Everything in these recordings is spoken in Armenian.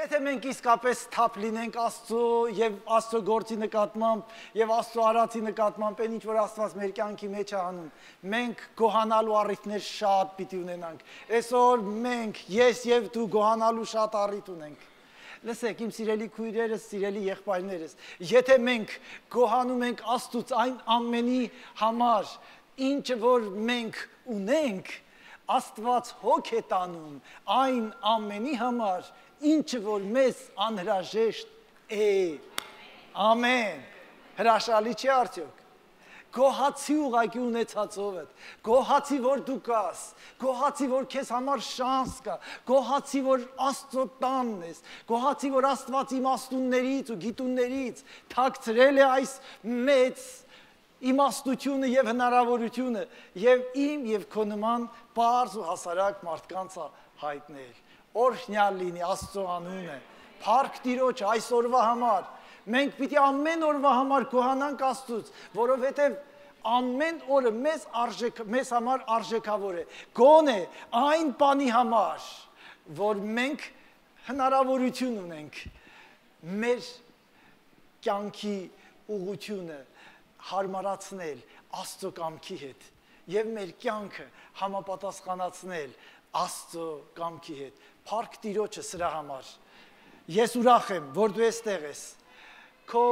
Եթե մենք իսկապես թափ լինենք Աստծո եւ Աստծո գործի նկատմամբ եւ Աստծո արածի նկատմամբ, այն ինչ որ Աստված մեր կյանքի մեջ է անում, մենք գոհանալու առիթներ շատ պիտի ունենանք։ Այսօր մենք, ես եւ դու գոհանալու շատ առիթ ունենք։ Լսեք, իմ սիրելի քույրերս, սիրելի եղբայրներս, եթե մենք գոհանում ենք Աստծուց այն ամենի համար, ինչը որ մենք ունենք, Աստված հոգ է տանում այն ամենի համար, ինչը որ մեզ անհրաժեշտ է։ Ամեն։ Հրաշալի չի արդյոք։ Գոհացի ուղղակի ունեցածով է։ Գոհացի որ դու կաս, գոհացի որ քեզ համար շանս կա, գոհացի որ Աստծո տանն ես, գոհացի որ Աստված իմաստուններից ու գիտուններից թաքցրել է այս մեծ իմաստությունը եւ հնարավորությունը եւ իմ եւ քո նման բարձ ու հասարակ մարդկանց հայտնել։ Օրհնյալ լինի Աստծո անունը, փառք Տիրոջ այսօրվա համար։ Մենք պիտի ամեն օրվա համար գոհանանք Աստծուց, որովհետև ամեն օրը մեզ համար արժեքավոր է։ Գոնե այն բանի համար, որ մենք հնարավորություն ունենք մեր կյանքի ուղղությունը հարմարացնել Աստծո կամքի հետ եւ մեր կյանքը համապատասխանացնել Աստծո կամքի հետ։ Փառք Տիրոջը սրա համար։ Ես ուրախ եմ, որ դու այստեղ ես։ Քո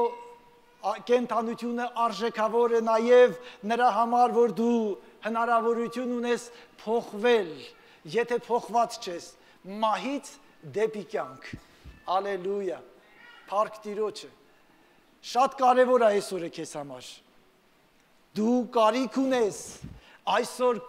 կենթանությունը արժեքավոր է նաև նրա համար, որ դու հնարավորություն ունես փոխվել, եթե փոխված չես, մահից դեպի կյանք։ Ալելույա։ Փառք Տիրոջը։ Շատ կարևոր է այսօրը քեզ համար։ Դու կարիք ունես այսօր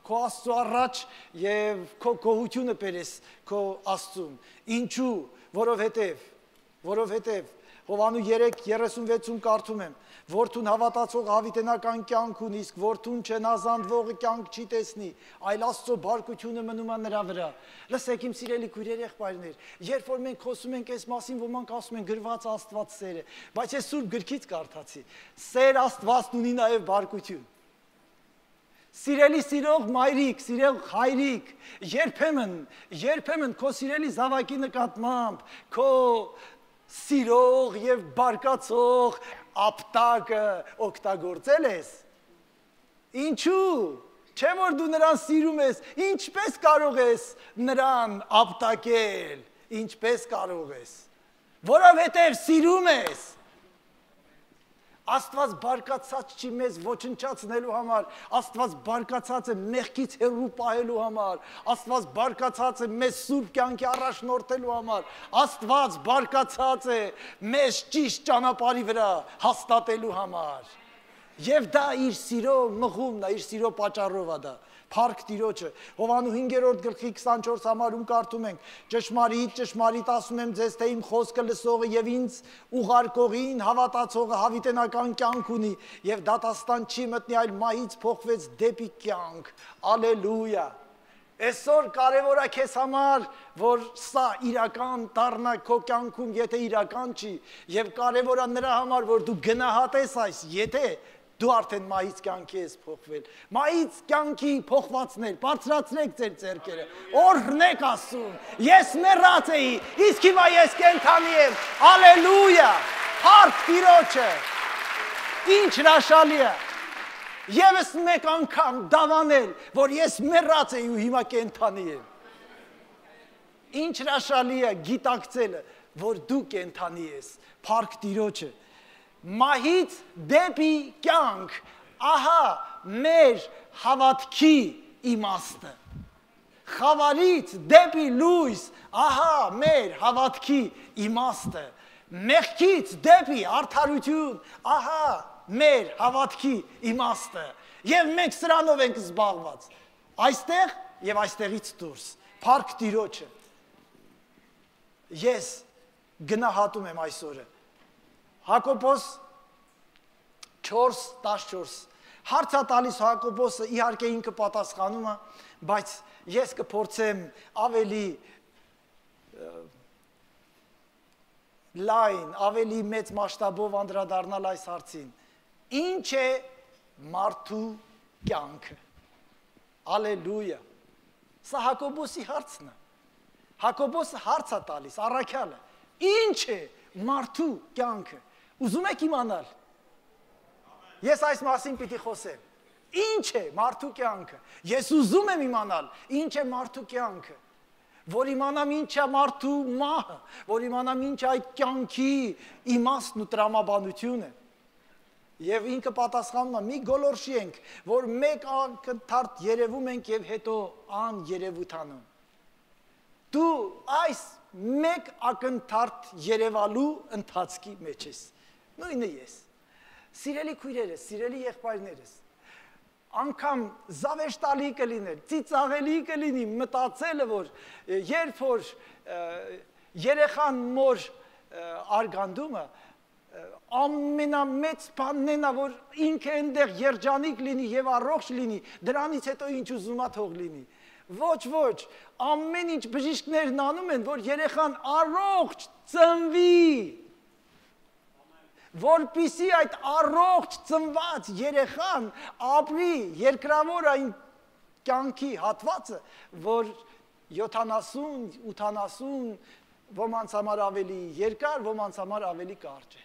քո Աստծո առաջ եւ քո գոհությունը բերես քո Աստծուն։ Ինչու? Որովհետև Հովանու 3:36-ում կարդում եմ, որդուն հավատացող հավիտենական կյանք ունի, իսկ որդուն չնազանդվողը կյանք չի տեսնի, այլ Աստծո բարկությունը մնում է նրա վրա։ Լսեք իմ սիրելի քույրեր, եղբայրներ, երբ որ մենք խոսում ենք այս մասին, ոմանք ասում են գրված Աստված սեր է, բայց ես Սուրբ գրքից կարդացի, սեր Աստվածն ունի նաև բարկություն։ Սիրելի սիրող մայրիկ, սիրող հայրիկ, երբեմն քո սիրելի զավակի նկատմամբ, քո սիրող եւ բարկացող ապտակը օգտագործել ես։ Ինչու՞։ Չէ որ դու նրան սիրում ես, ինչպես կարող ես նրան ապտակել, ինչպես կարող ես։ Որովհետև սիրում ես։ Աստված բարկացած չի մեզ ոչնչացնելու համար, Աստված բարկացած է մեղքից հեռու պահելու համար, Աստված բարկացած է մեզ սուրբ կյանքի առաջնորդելու համար, Աստված բարկացած է մեզ ճիշտ ճանապարհի վրա հաստատելու համար։ Եվ դա իր սիրո մղումն է, իր սիրո պատճառով է դա։ Փառք Տիրոջը։ Հովանու 5:24 համարում կարդում ենք. ճշմարիտ ասում եմ ձեզ, թե իմ խոսքը լսողը եւ ինձ ուղարկողին հավատացողը հավիտենական կյանք ունի եւ դատաստան չի մտնի, այլ մահից փոխվեց դեպի կյանք։ Ալելույա։ Այսօր կարևոր է քեզ համար, որ սա իրական դառնա քո կյանքում, եթե իրական չի, եւ կարևոր է նրա համար, որ դու գնահատես այս, եթե դու արդեն մահից կյանքի ես փոխվել։ Մահից կյանքի փոխվածներ, բարձրացրեք ձեր ձեռքերը, օրհնեք Աստծուն։ Ես մեռած էի, իսկ հիմա ես կենդանի եմ։ Ալելույա։ Փառք Տիրոջը։ Ինչ հրաշալի է։ Եվս մեկ անգամ դավանել, որ ես մեռած էի ու հիմա կենդանի եմ։ Ինչ հրաշալի է գիտակցելը, որ դու կենդանի ես։ Փառք Տիրոջը։ Մահից դեպի կյանք, ահա մեր հավատքի իմաստը։ Խավարից դեպի լույս, ահա մեր հավատքի իմաստը։ Մեղքից դեպի արդարություն, ահա մեր հավատքի իմաստը։ Եվ մենք սրանով ենք զբաղված։ Այստեղ եւ այստեղից դուրս։ Փառք Տիրոջը։ Ես գնահատում եմ այսօրը։ Հակոբոս 4:14 հարց է տալիս Հակոբոսը, իհարկե ինքը պատասխանում է, բայց ես կփորձեմ ավելի լայն, ավելի մեծ մասշտաբով անդրադառնալ այս հարցին։ Ինչ է մարդու կյանքը։ Ալելույա։ Սա Հակոբոսի հարցն է։ Հակոբոսը հարց է տալիս, առաքյալը, ինչ է մարդու կյանքը։ Ուզում եք իմանալ։ Ես այս մասին պիտի խոսեմ։ Ինչ է մարդու կյանքը։ Ես ուզում եմ իմանալ, ինչ է մարդու կյանքը։ Որ իմանամ ինչ է մարդու մահը, որ իմանամ ինչ է այդ կյանքի իմաստն ու տրամաբանությունը։ Եվ ինքը պատասխանում է, մի գոլորշի ենք, որ մեկ ակնթարթ երևում ենք եւ հետո աներևութանում։ Դու այս մեկ ակնթարթ երևալու ընթացքի մեջ ես։ Նույնը ես։ Սիրելի քույրերս, սիրելի եղբայրներս, անգամ զավեշտալի կլիներ, ծիծաղելի կլինի մտածելը, որ երբ որ երեխան մոր արգանդումը ամենամեծ բանն է, որ ինքը այնտեղ երջանիկ լինի եւ առողջ լինի, դրանից հետո ինչ ուզում է թող լինի։ Ոչ, ամեն ինչ բժիշկներն անում են, որ երեխան առողջ ծնվի, որպիսի այդ առողջ ծնված երեխան ապրի երկրավոր այն կյանքի հատվածը, որ 70-80 ոմանց համար ավելի երկար, ոմանց համար ավելի կարճ է։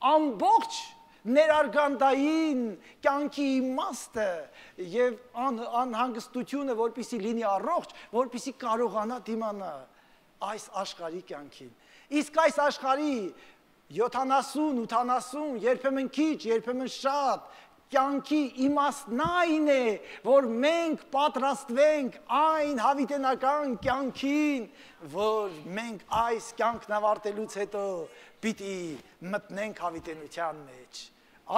Ամբողջ ներարգանդային կյանքի իմաստը եւ անհանգստությունը, որպիսի լինի առողջ, որպիսի կարողանա դիմանալ այս աշխարհի կյանքին։ Իսկ այս աշխարհի 70-80, երբեմն քիչ, երբեմն շատ, կյանքի իմաստն այն է, որ մենք պատրաստվենք այն հավիտենական կյանքին, որ մենք այս կյանքն ավարտելուց հետո պիտի մտնենք հավիտենության մեջ։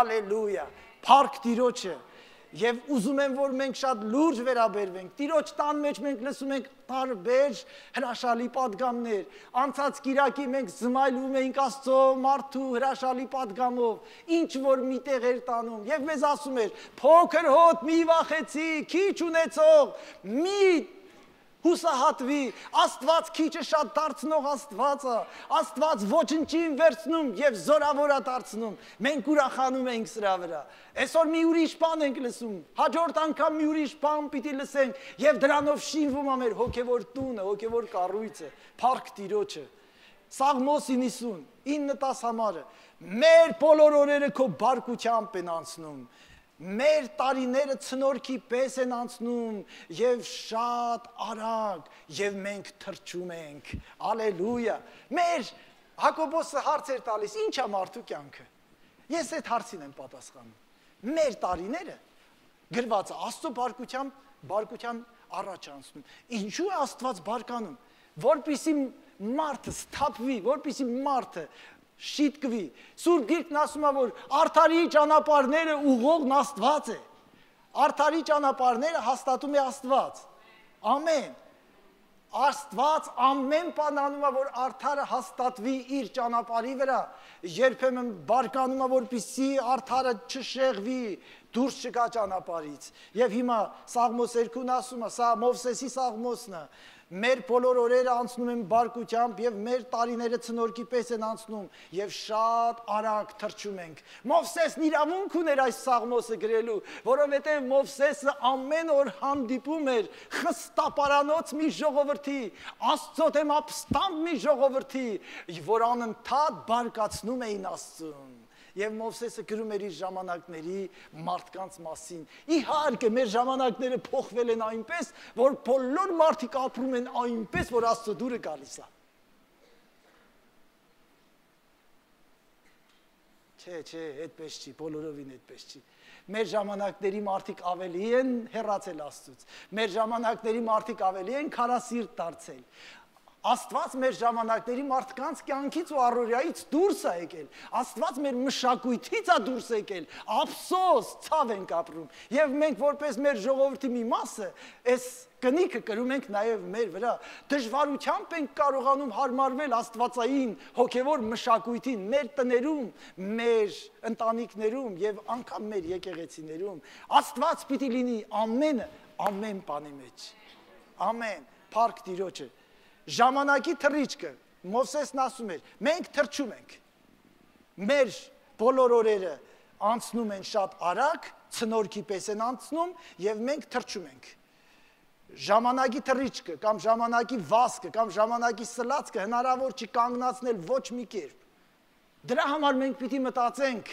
Ալելույա, փառք Տիրոջը։ Եվ ուզում եմ, որ մենք շատ լուրջ վերաբերվենք։ Տիրոջ տան մեջ մենք լսում ենք տարբեր հրաշալի պատգամներ։ Անցած կիրակի մենք զմայլում էինք Աստծո մարդու հրաշալի պատգամով, ինչ որ միտեղ էր տանում, եւ մեզ ասում էր. «Փոքր հոտ մի վախեցի, քիչ ունեցող, մի հուսահատվի, Աստված քիչը շատ դարձնող Աստված է, Աստված ոչնչին վերցնում եւ զորավորա դարձնում։ Մենք ուրախանում ենք սրա վրա։ Այսօր մի ուրիշ բան ենք լսում, հաջորդ անգամ մի ուրիշ բան պիտի լսենք եւ դրանով շինվում է մեր հոգեվոր տունը, հոգեվոր կառույցը։ Փառք Տիրոջը։ Սաղմոս 90:9-10 համարը։ Մեր բոլոր օրերը քո բարկությամբ են անցնում։ Մեր տարիները ցնորքի պես են անցնում եւ շատ արագ եւ մենք թրջում ենք։ Ալելույա։ Մեր Հակոբոսը հարց էր տալիս, ինչ է մարդու կյանքը։ Ես այդ հարցին եմ պատասխանում։ Մեր տարիները գրված է Աստծո բարկության առաջ անցնում։ Ինչու է Աստված բարկանում, որպիսի մարդը սթափվի, որպիսի մարդը շիտկվի։ Սուրբ Գիրքն ասում է, որ արդարի ճանապարհները ուղղողն Աստված է։ Արդարի ճանապարհները հաստատում է Աստված։ Ամեն։ Աստված ամեն բան անում է, որ արդարը հաստատվի իր ճանապարհի վրա։ Երբեմն բարկանում է, որպեսզի արդարը չշեղվի, դուրս չգա ճանապարհից։ Եվ հիմա Սաղմոս 2-ն ասում է, սա Մովսեսի Սաղմոսն է։ Մեր բոլոր օրերը անցնում են բարկությամբ եւ մեր տարիները ցնորքի պես են անցնում եւ շատ արագ թրջում ենք։ Մովսեսն իրավունք ուներ այս Սաղմոսը գրելու, որովհետեւ Մովսեսը ամեն օր հանդիպում էր խստապարանոց մի ժողովրդի, Աստծո դեմ ապստամբ մի ժողովրդի, որ անընդհատ բարկացնում էին Աստծուն։ Եվ Մովսեսը գրում էր իր ժամանակների մարդկանց մասին։ Իհարկե, մեր ժամանակները փոխվել են այնպես, որ բոլոր մարդիկ ապրում են այնպես, որ Աստծո դուրը գալիս է։ Չէ, այդպես չի, բոլորովին այդպես չի։ Մեր ժամանակների մարդիկ ավելի են հեռացել Աստծուց։ Մեր ժամանակների մարդիկ ավելի են քարասիրտ դարձել։ Աստված մեր ժամանակների մարդկանց կյանքից ու առօրյայից դուրս է եկել։ Աստված մեր մշակույթից է դուրս եկել։ Ափսոս, ցավ ենք ապրում։ Եվ մենք որպես մեր ժողովրդի մի մասը, այս կնիքը կրում ենք նաև մեր վրա։ Դժվարությամբ ենք կարողանում հարմարվել աստվածային հոգևոր մշակույթին, մեր տներում, մեր ընտանիքներում եւ անգամ մեր եկեղեցիներում։ Աստված պիտի լինի ամեն բանի մեջ։ Ամեն, փառք Տիրոջը։ Ժամանակի թռիչքը, Մովսեսն ասում էր, մենք թրջում ենք, մեր բոլոր օրերը անցնում են շատ արագ, ցնորքի պես են անցնում և մենք թրջում ենք։ ժամանակի թռիչքը, կամ ժամանակի վազքը, կամ ժամանակի սլացքը հնարավոր չի կանգնացնել ոչ մի կերպ։ Դրա համար մենք պիտի մտածենք,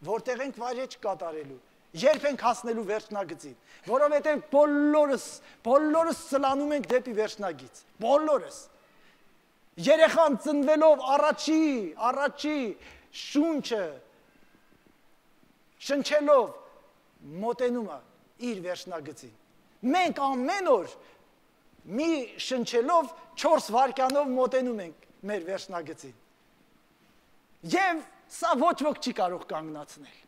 որտեղ ենք վայրեջք կատարելու, երբ ենք հասնելու վերջնագծին, որովհետև բոլորս սլանում ենք դեպի վերջնագիծ, բոլորս։ Երեխան ծնվելով առաջի շունչը շնչելով մոտենում է իր վերջնագծին։ Մենք ամեն օր մի շնչելով 4 վայրկյանով մոտենում ենք մեր վերջնագծին։ Եվ սա ոչ ոք չի կարող կանգնացնել։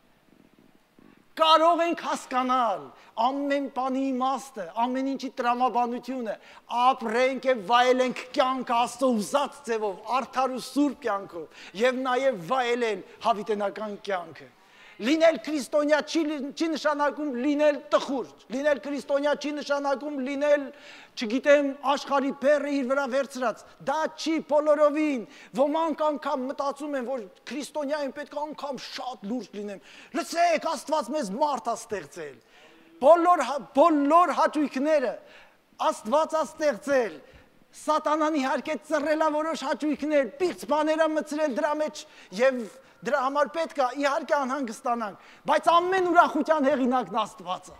Կարող ենք հասկանալ ամեն բանի իմաստը, ամեն ինչի տրամաբանությունը, ապրենք եւ վայելենք կյանքը Աստծո ուզած ձևով, արդար ու սուրբ կյանքով, եւ նաեւ վայելել հավիտենական կյանքը։ Լինել քրիստոնյա չի նշանակում լինել տխուր, լինել քրիստոնյա չի նշանակում լինել, չգիտեմ, աշխարհի բեռը իր վրա վերցրած, դա չի բոլորովին, ոմանք անգամ մտածում են, որ քրիստոնյային պետք է անգամ շատ լուրջ լինեմ, լսեք, Աստված մեզ մարդ է ստեղծել, բոլոր հաճույքները Աստված է ստեղծել, Սատանան իհարկե ծռել է որոշ հաճույքներ, պիղծ բաներ է մտցրել դրա մեջ եւ դրա համար պետք է իհարկե անհանգստանանք, բայց ամեն ուրախության հեղինակն Աստված է։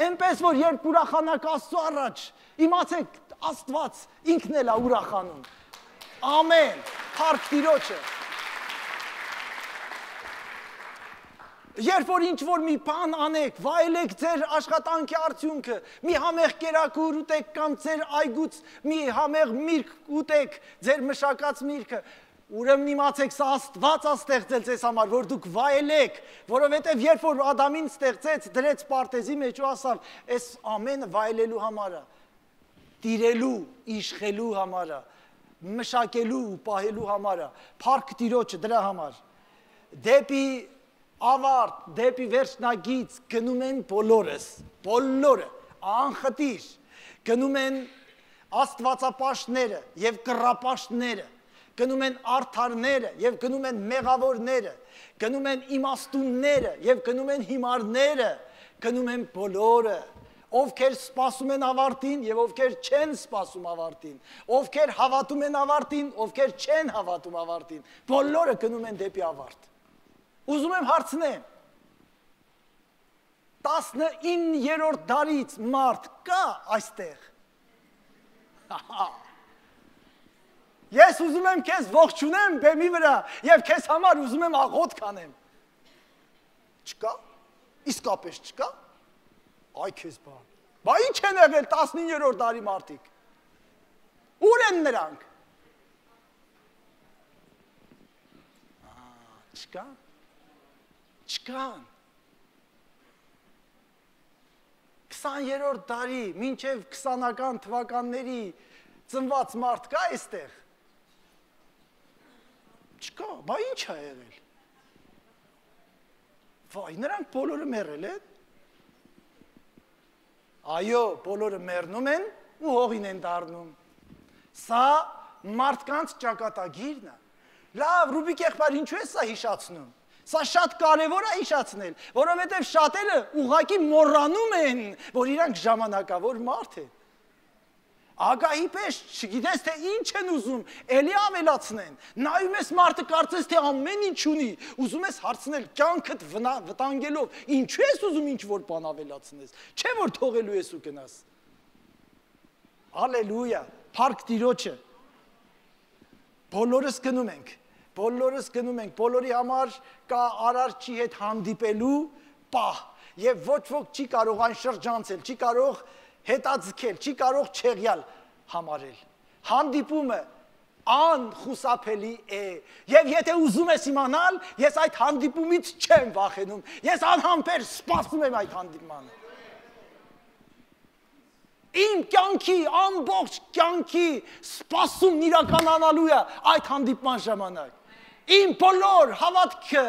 Այնպես որ երբ ուրախանաք Աստծո առաջ, իմացեք Աստված ինքն էլ է ուրախանում։ Ամեն, փառք Տիրոջը։ Երբ որ ինչ-որ մի բան անեք, վայելեք ձեր աշխատանքի արդյունքը, մի համեղ կերակուր ուտեք կամ ձեր այգուց մի համեղ միրգ ուտեք, ձեր մշակած միրգը, ուրեմն իմացեք, սա Աստված է ստեղծել ձեզ համար, որ դուք վայելեք, որովհետև երբ որ Ադամին ստեղծեց, դրեց պարտեզի մեջ ու ասավ, այս ամենը վայելելու համար է, տիրելու, իշխելու համար է, մշակելու ու պահելու համար է, փառք Տիրոջը դրա համար։ Դեպի ավարտ, դեպի վերջնագիծ գնում են բոլորը, անխտիր, գնում են աստվածապաշտները և կռապաշտները, գնում են արդարները և գնում են մեղավորները, գնում են իմաստունները և գնում են հիմարները, գնում են բոլորը, ովքեր սպասում են ավարտին և ովքեր չեն սպասում ավարտին, ովքեր հավատում են ավարտին, ովքեր չեն հավատում ավարտին, բոլորը գնում են դեպի ավարտ։ Ուզում եմ հարցնեմ, 19-րդ դարից մարդ կա այստեղ։ Ես ուզում եմ քեզ ողջունեմ բեմի վրա և քեզ համար ուզում եմ աղոթք անեմ։ Չկա, իսկապես չկա, այ քեզ բան, բա ինչ են եղել 19-րդ դարի մարդիկ, ուր են նրանք։ Չկան, 20-րդ դարի, մինչև 20-ական թվականների ծնված մարդ կա այստեղ։ Չկա, բա ինչ է եղել։ Վայ, նրանք բոլորը մեռել են։ Այո, բոլորը մեռնում են ու հողին են դառնում։ Սա մարդկանց ճակատագիրն է։ Լավ, Ռուբիկ եղբայր, ինչու է սա հիշացնում։ Սա շատ կարևոր է հիշացնել, որովհետև շատերը ուղղակի մոռանում են, որ իրանք ժամանակավոր մարդ են։ Ագահի պես չգիտես թե ինչ են ուզում, էլի ավելացնեն, նայում ես մարդը կարծես թե ամեն ինչ ունի, ուզում ես հարցնել կյանքդ վտանգելով, ինչու ես ուզում ինչ-որ բան ավելացնես, չէ որ թողելու ես ու գնաս։ Ալելույա, փառք Տիրոջը։ Բոլորս գնում ենք, բոլորի համար կա արարչի հետ հանդիպելու պահ, և ոչ ոք չի կարող այն շրջանցել, չի կարող հետաձգել, չի կարող չեղյալ համարել։ Հանդիպումը անխուսափելի է, և եթե ուզում ես իմանալ, ես այդ հանդիպումից չեմ վախենում, ես անհամբեր սպասում եմ այդ հանդիպմանը։ Իմ կյանքի, ամբողջ կյանքի սպասումն իրականանալու է այդ հանդիպման ժամանակ։ Իմ բոլոր հավատքը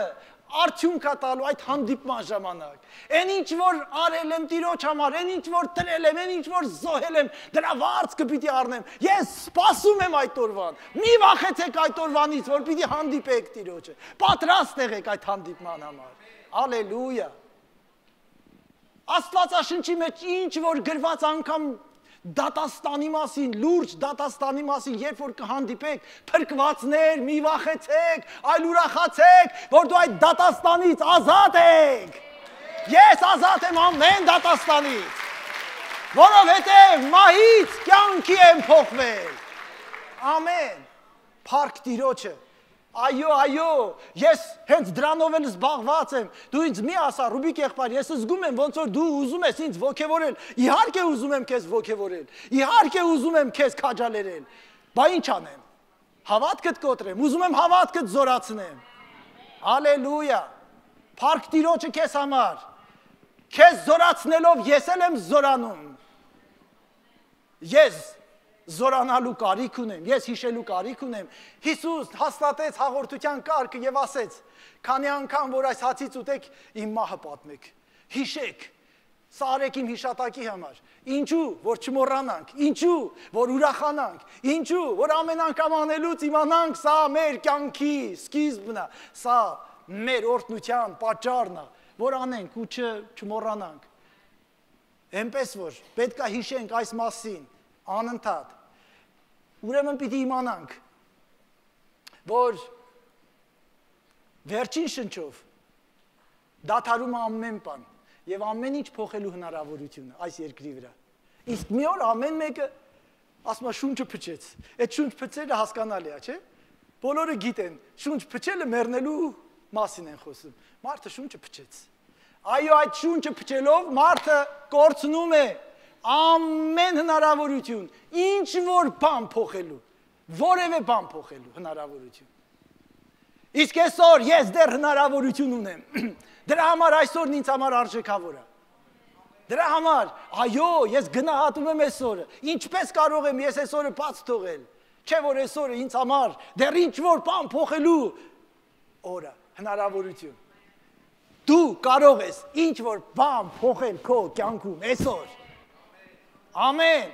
արդյունք է տալու այդ հանդիպման ժամանակ։ Այն ինչ որ արել եմ Տիրոջ համար, այն ինչ որ տրել եմ, այն ինչ որ զոհել եմ, դրա վարձքը պիտի առնեմ։ Ես սպասում եմ այդ օրվան։ Մի վախեցեք այդ օրվանից, որ պիտի հանդիպեք Տիրոջը։ Պատրաստ եղեք այդ հանդիպման համար։ Ալելույա։ Աստվածաշնչի մեջ ինչ որ գրված անգամ դատաստանի մասին, լուրջ դատաստանի մասին, երբ որ կհանդիպեք, փրկվածներ, մի վախեցեք, այլ ուրախացեք, որ դու այդ դատաստանից ազատ եք։ Ես ազատ եմ ամեն դատաստանից, որովհետև մահից կյանքի եմ փոխվել։ Ամեն։ Փառք Տիրոջը։ Այո, ես հենց դրանով էլ զբաղված եմ։ Դու ինձ մի ասա, Ռուբիկ եղբայր, ես զգում եմ ոնց որ դու ուզում ես ինձ ոգևորել։ Իհարկե ուզում եմ քեզ ոգևորել։ Իհարկե ուզում եմ քեզ քաջալերել։ Բա ինչ անեմ։ Հավատքդ կոտրեմ, ուզում եմ հավատքդ զորացնեմ։ Հալելույա։ Փառք Տիրոջը քեզ համար։ Քեզ զորացնելով ես էլ եմ զորանում։ Ես զորանալու կարիք ունեմ, ես հիշելու կարիք ունեմ։ Հիսուս հաստատեց հաղորդության կարգը եւ ասեց. քանի անգամ որ այս հացից ուտեք, իմ մահը պատմեք։ Հիշեք։ Սա արեք իմ հիշատակի համար։ Ինչու, որ չմոռանանք, ինչու, որ ուրախանանք, ինչու, որ ամեն անգամ անելուց իմանանք, սա մեր կյանքի սկիզբն է, սա մեր օրհնության պատճառն է, որ անենք ու չմոռանանք։ Էնպես որ պետք է հիշենք այս մասին անընդհատ։ Ուրեմն պիտի իմանանք, որ վերջին շնչով դադարում է ամեն բան եւ ամեն ինչ փոխելու հնարավորությունը այս երկրի վրա։ Իսկ մի օր ամեն մեկը ասում է շունչը փչեց։ Այդ շունչ փչելը հասկանալի է, չէ՞։ Բոլորը գիտեն, շունչ փչելը մեռնելու մասին են խոսում։ Մարդը շունչը փչեց։ Այո, այդ շունչը փչելով մարդը կորցնում է ամեն հնարավորություն, ինչ որ բան փոխելու, որևէ բան փոխելու հնարավորություն։ Իսկ այսօր ես դեռ հնարավորություն ունեմ։ Դրա համար այսօրն ինձ համար արժեքավոր է։ Դրա համար, այո, ես գնահատում եմ այսօրը։ Ինչպես կարող եմ ես այսօրը բաց թողել։ Չէ՞ որ այսօրը ինձ համար դեռ ինչ որ բան փոխելու օրը, հնարավորություն։ Դու կարող ես ինչ որ բան փոխել քո կյանքում այսօր։ Ամեն,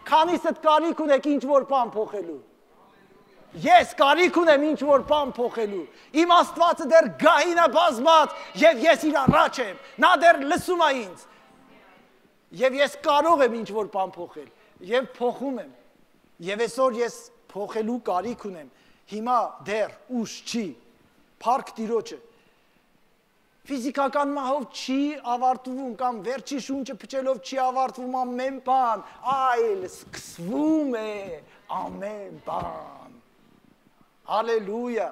քանիսդ կարիք ունեք ինչ որ բան փոխելու։ Ես կարիք ունեմ ինչ որ բան փոխելու։ Իմ Աստվածը դեռ գահին է բազմած եւ ես իր առաջ եմ։ Նա դեռ լսում է ինձ։ Եվ ես կարող եմ ինչ որ բան փոխել եւ փոխում եմ։ Եվ այսօր ես փոխելու կարիք ունեմ։ Հիմա դեռ ուշ չի։ Փառք Տիրոջը։ Ֆիզիկական մահով չի ավարտվում կամ վերջի շունչը փչելով չի ավարտվում ամեն բան, այլ սկսվում է ամեն բան։ Հալելույա։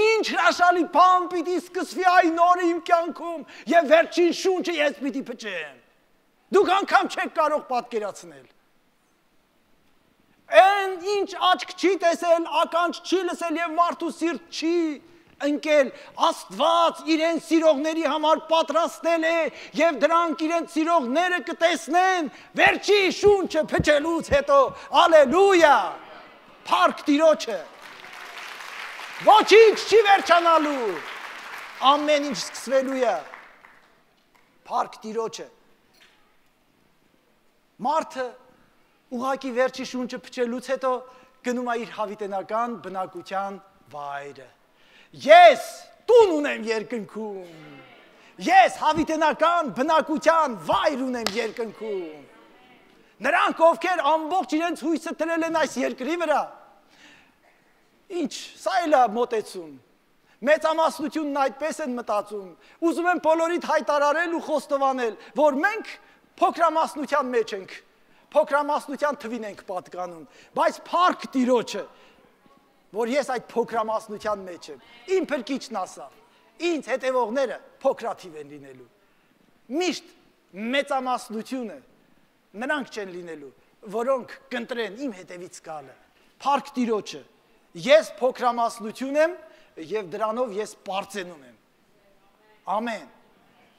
Ինչ հրաշալի բան պիտի սկսվի այն օրը իմ կյանքում եւ վերջին շունչը ես պիտի փչեմ։ Դուք անգամ չեք կարող պատկերացնել։ Այն ինչ աչք չի տեսել, ականջ չի լսել եւ մարդու սիրտ չի ընկել, Աստված իրեն սիրողների համար պատրաստել է եւ դրանք իրեն սիրողները կտեսնեն վերջի շունչը փչելուց հետո։ Հալելույա։ Փառք Տիրոջը։ Ոչինչ չի վերջանալու։ Ամեն ինչ սկսվելու է։ Փառք Տիրոջը։ Մարդը ուղղակի վերջի շունչը փչելուց հետո գնում է իր հավիտենական բնակության վայրը։ Ես տուն ունեմ երկնքում։ Ես հավիտենական բնակության վայր ունեմ երկնքում։ Նրանք, ովքեր ամբողջ իրենց հույսը դրել են այս երկրի վրա, ինչ, սա էլ է մոտեցում։ Մեծամասնությունն այդպես են մտածում։ Ուզում են բոլորիդ հայտարարել ու խոստովանել, որ մենք փոքրամասնության մեջ ենք, փոքրամասնության թվին ենք պատկանում, բայց փառք Տիրոջը, որ ես այդ փոքրամասնության մեջ եմ։ Իմ փրկիչն ասավ, ինձ հետևողները փոքրաթիվ են լինելու։ Միշտ մեծամասնությունը նրանք չեն լինելու, որոնք կընտրեն իմ հետևից գալը։ Փառք Տիրոջը, ես փոքրամասնություն եմ եւ դրանով ես պարծենում եմ։ Ամեն։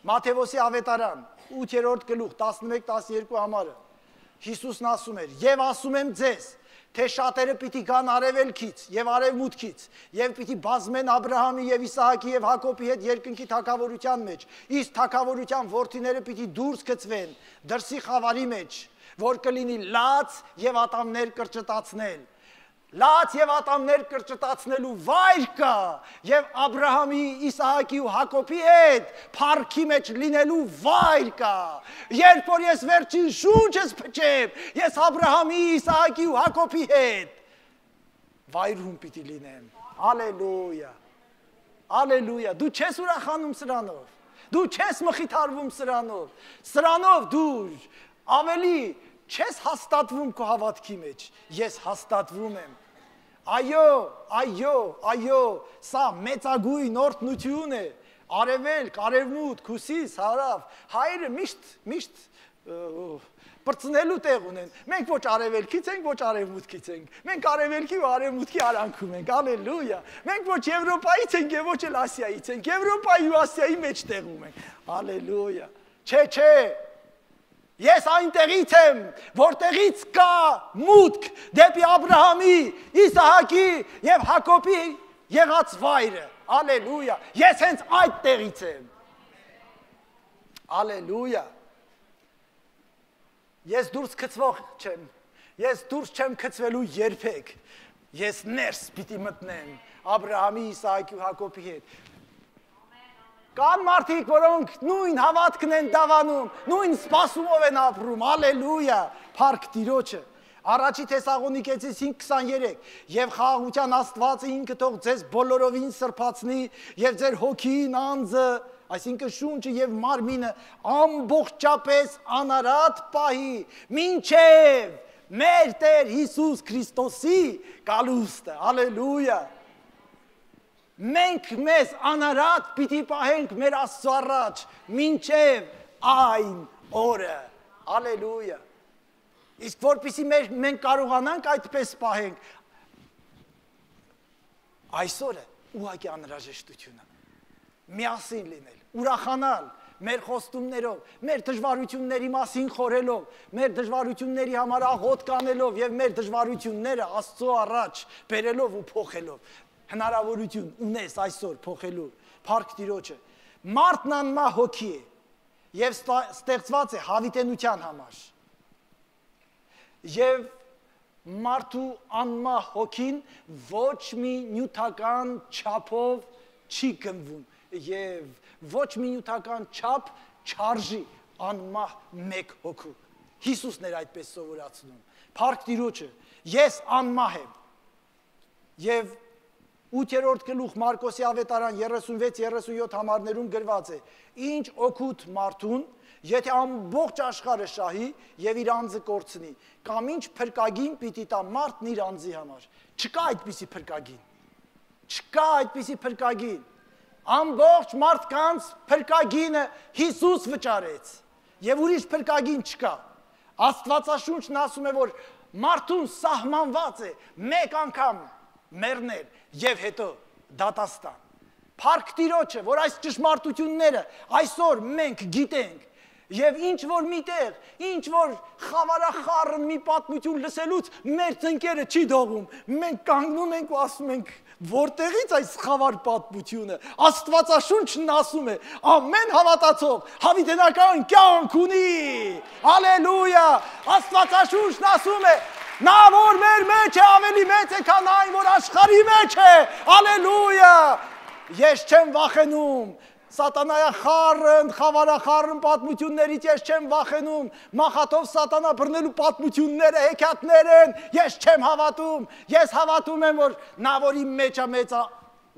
Մատթեոսի ավետարան 8-րդ գլուխ 11-12 համարը Հիսուսն ասում էր. «Եվ ասում եմ ձեզ, թե շատերը պիտի գան արևելքից եւ արևմուտքից եւ պիտի բազմեն Աբրահամի եւ Իսահակի եւ Հակոբի հետ երկնքի թագավորության մեջ, իսկ թագավորության որդիները պիտի դուրս գցվեն դրսի խավարի մեջ, որ կլինի լաց եւ ատամներ կրճտացնել, լաց եւ ատամներ կրճտացնելու վայր կա եւ Աբրահամի, Իսահակի ու Հակոբի հետ փառքի մեջ լինելու վայր կա։ Երբ որ ես վերջին շունչս փչեմ, ես Աբրահամի, Իսահակի ու Հակոբի հետ վայրում պիտի լինեմ։ Ալելույա։ Ալելույա։ Դու չես ուրախանում սրանով։ Դու չես մխիթարվում սրանով։ Սրանով դու ավելի չես հաստատվում քո հավատքի մեջ, ես հաստատվում եմ։ Այո, այո, այո, սա մեծագույն օրհնություն է։ Արևելք, արևմուտք, հյուսիս, հարավ, հայերը միշտ բրծնելու տեղ ունեն։ Մենք ոչ արևելքից ենք, ոչ արևմուտքից ենք։ Մենք արևելքի ու արևմուտքի արանքում ենք։ Ալելույա։ Մենք ոչ Եվրոպայից ենք եւ ոչ էլ Ասիայից ենք։ Եվրոպայի ու Ասիայի մեջ տեղում ենք։ Ալելույա։ Չէ։ Ես այնտեղից եմ, որտեղից կա մուտք դեպի Աբրահամի, Իսահակի եւ Հակոբի եղած վայրը։ Ալելույա։ Ես հենց այդ տեղից եմ։ Ալելույա։ Ես դուրս գցվող չեմ։ Ես դուրս չեմ գցվելու երբեք։ Ես ներս պիտի մտնեմ Աբրահամի, Իսահակի ու Հակոբի հետ։ Կան մարդիկ, որոնք նույն հավատքն են դավանում, նույն սպասումով են ապրում, ալելույա, փառք Տիրոջը։ Առաջի Թեսաղոնիկեցիս 5:23 եւ խաղաղության Աստվածը ինքը թող ձեզ բոլորովին սրբացնի եւ ձեր հոգին, անձը, այսինքն շունչը եւ մարմինը ամբողջապես անարատ պահի, մինչեւ մեր Տեր Հիսուս Քրիստոսի գալուստը, ալելույա։ Մենք մեզ անարատ պիտի պահենք մեր Աստծո առաջ, մինչև այն օրը, ալելույա։ Իսկ որպեսզի մենք կարողանանք այդպես պահենք, այսօրը ուղղակի անհրաժեշտություն է, միասին լինել, ուրախանալ մեր խոստումներով, մեր դժվարությունների մասին խորելով, մեր դժվարությունների համար աղոթ կանելով եւ մեր դժվարությունները Աստծո առաջ բերելով ու փոխելով։ Հնարավորություն ունես այսօր փոխելու, փառք Տիրոջը։ Մարդն անմահ հոգի է եւ ստեղծված է հավիտենության համար։ Եվ մարդու անմահ հոգին ոչ մի նյութական չափով չի գնվում եւ ոչ մի նյութական չափ չարժի անմահ մեկ հոգու։ Հիսուսն էր այդպես սովորացնում։ Փառք Տիրոջը։ Ես անմահ եմ։ Եվ 8-րդ գլուխ Մարկոսի ավետարան 36-37 համարներում գրված է. Ինչ օգուտ մարդուն, եթե ամբողջ աշխարհը շահի եւ իր անձը կորցնի, կամ ինչ փրկագին պիտի տա մարդն իր անձի համար։ Չկա այդպիսի փրկագին։ Չկա այդպիսի փրկագին։ Ամբողջ մարդկանց փրկագինը Հիսուս վճարեց եւ ուրիշ փրկագին չկա։ Աստվածաշունչն ասում է, որ մարդուն սահմանված է մեկ անգամ մեռնել եւ հետո դատաստան։ Փառք Տիրոջը, որ այս ճշմարտությունները այսօր մենք գիտենք եւ ինչ որ միտեղ, ինչ որ խավարախառն մի պատմություն լսելուց մեր ծնկերը չի դողում։ Մենք կանգնում ենք ու ասում ենք, որտեղից այս խավար պատմությունը։ Աստվածաշունչն ասում է, ամեն հավատացող հավիտենական կյանք ունի։ Ալելույա։ Աստվածաշունչն ասում է, նա որ մեր մեջ է ավելի մեծ է, քան այն, որ աշխարհի մեջ է։ Ալելույա։ Ես չեմ վախենում սատանայախառն, խավարախառն պատմություններից, ես չեմ վախենում մախաթով սատանա բռնելու պատմությունները, հեքիաթներ են, ես չեմ հավատում, ես հավատում եմ, որ նա որ իմ մեջ է մեծ է,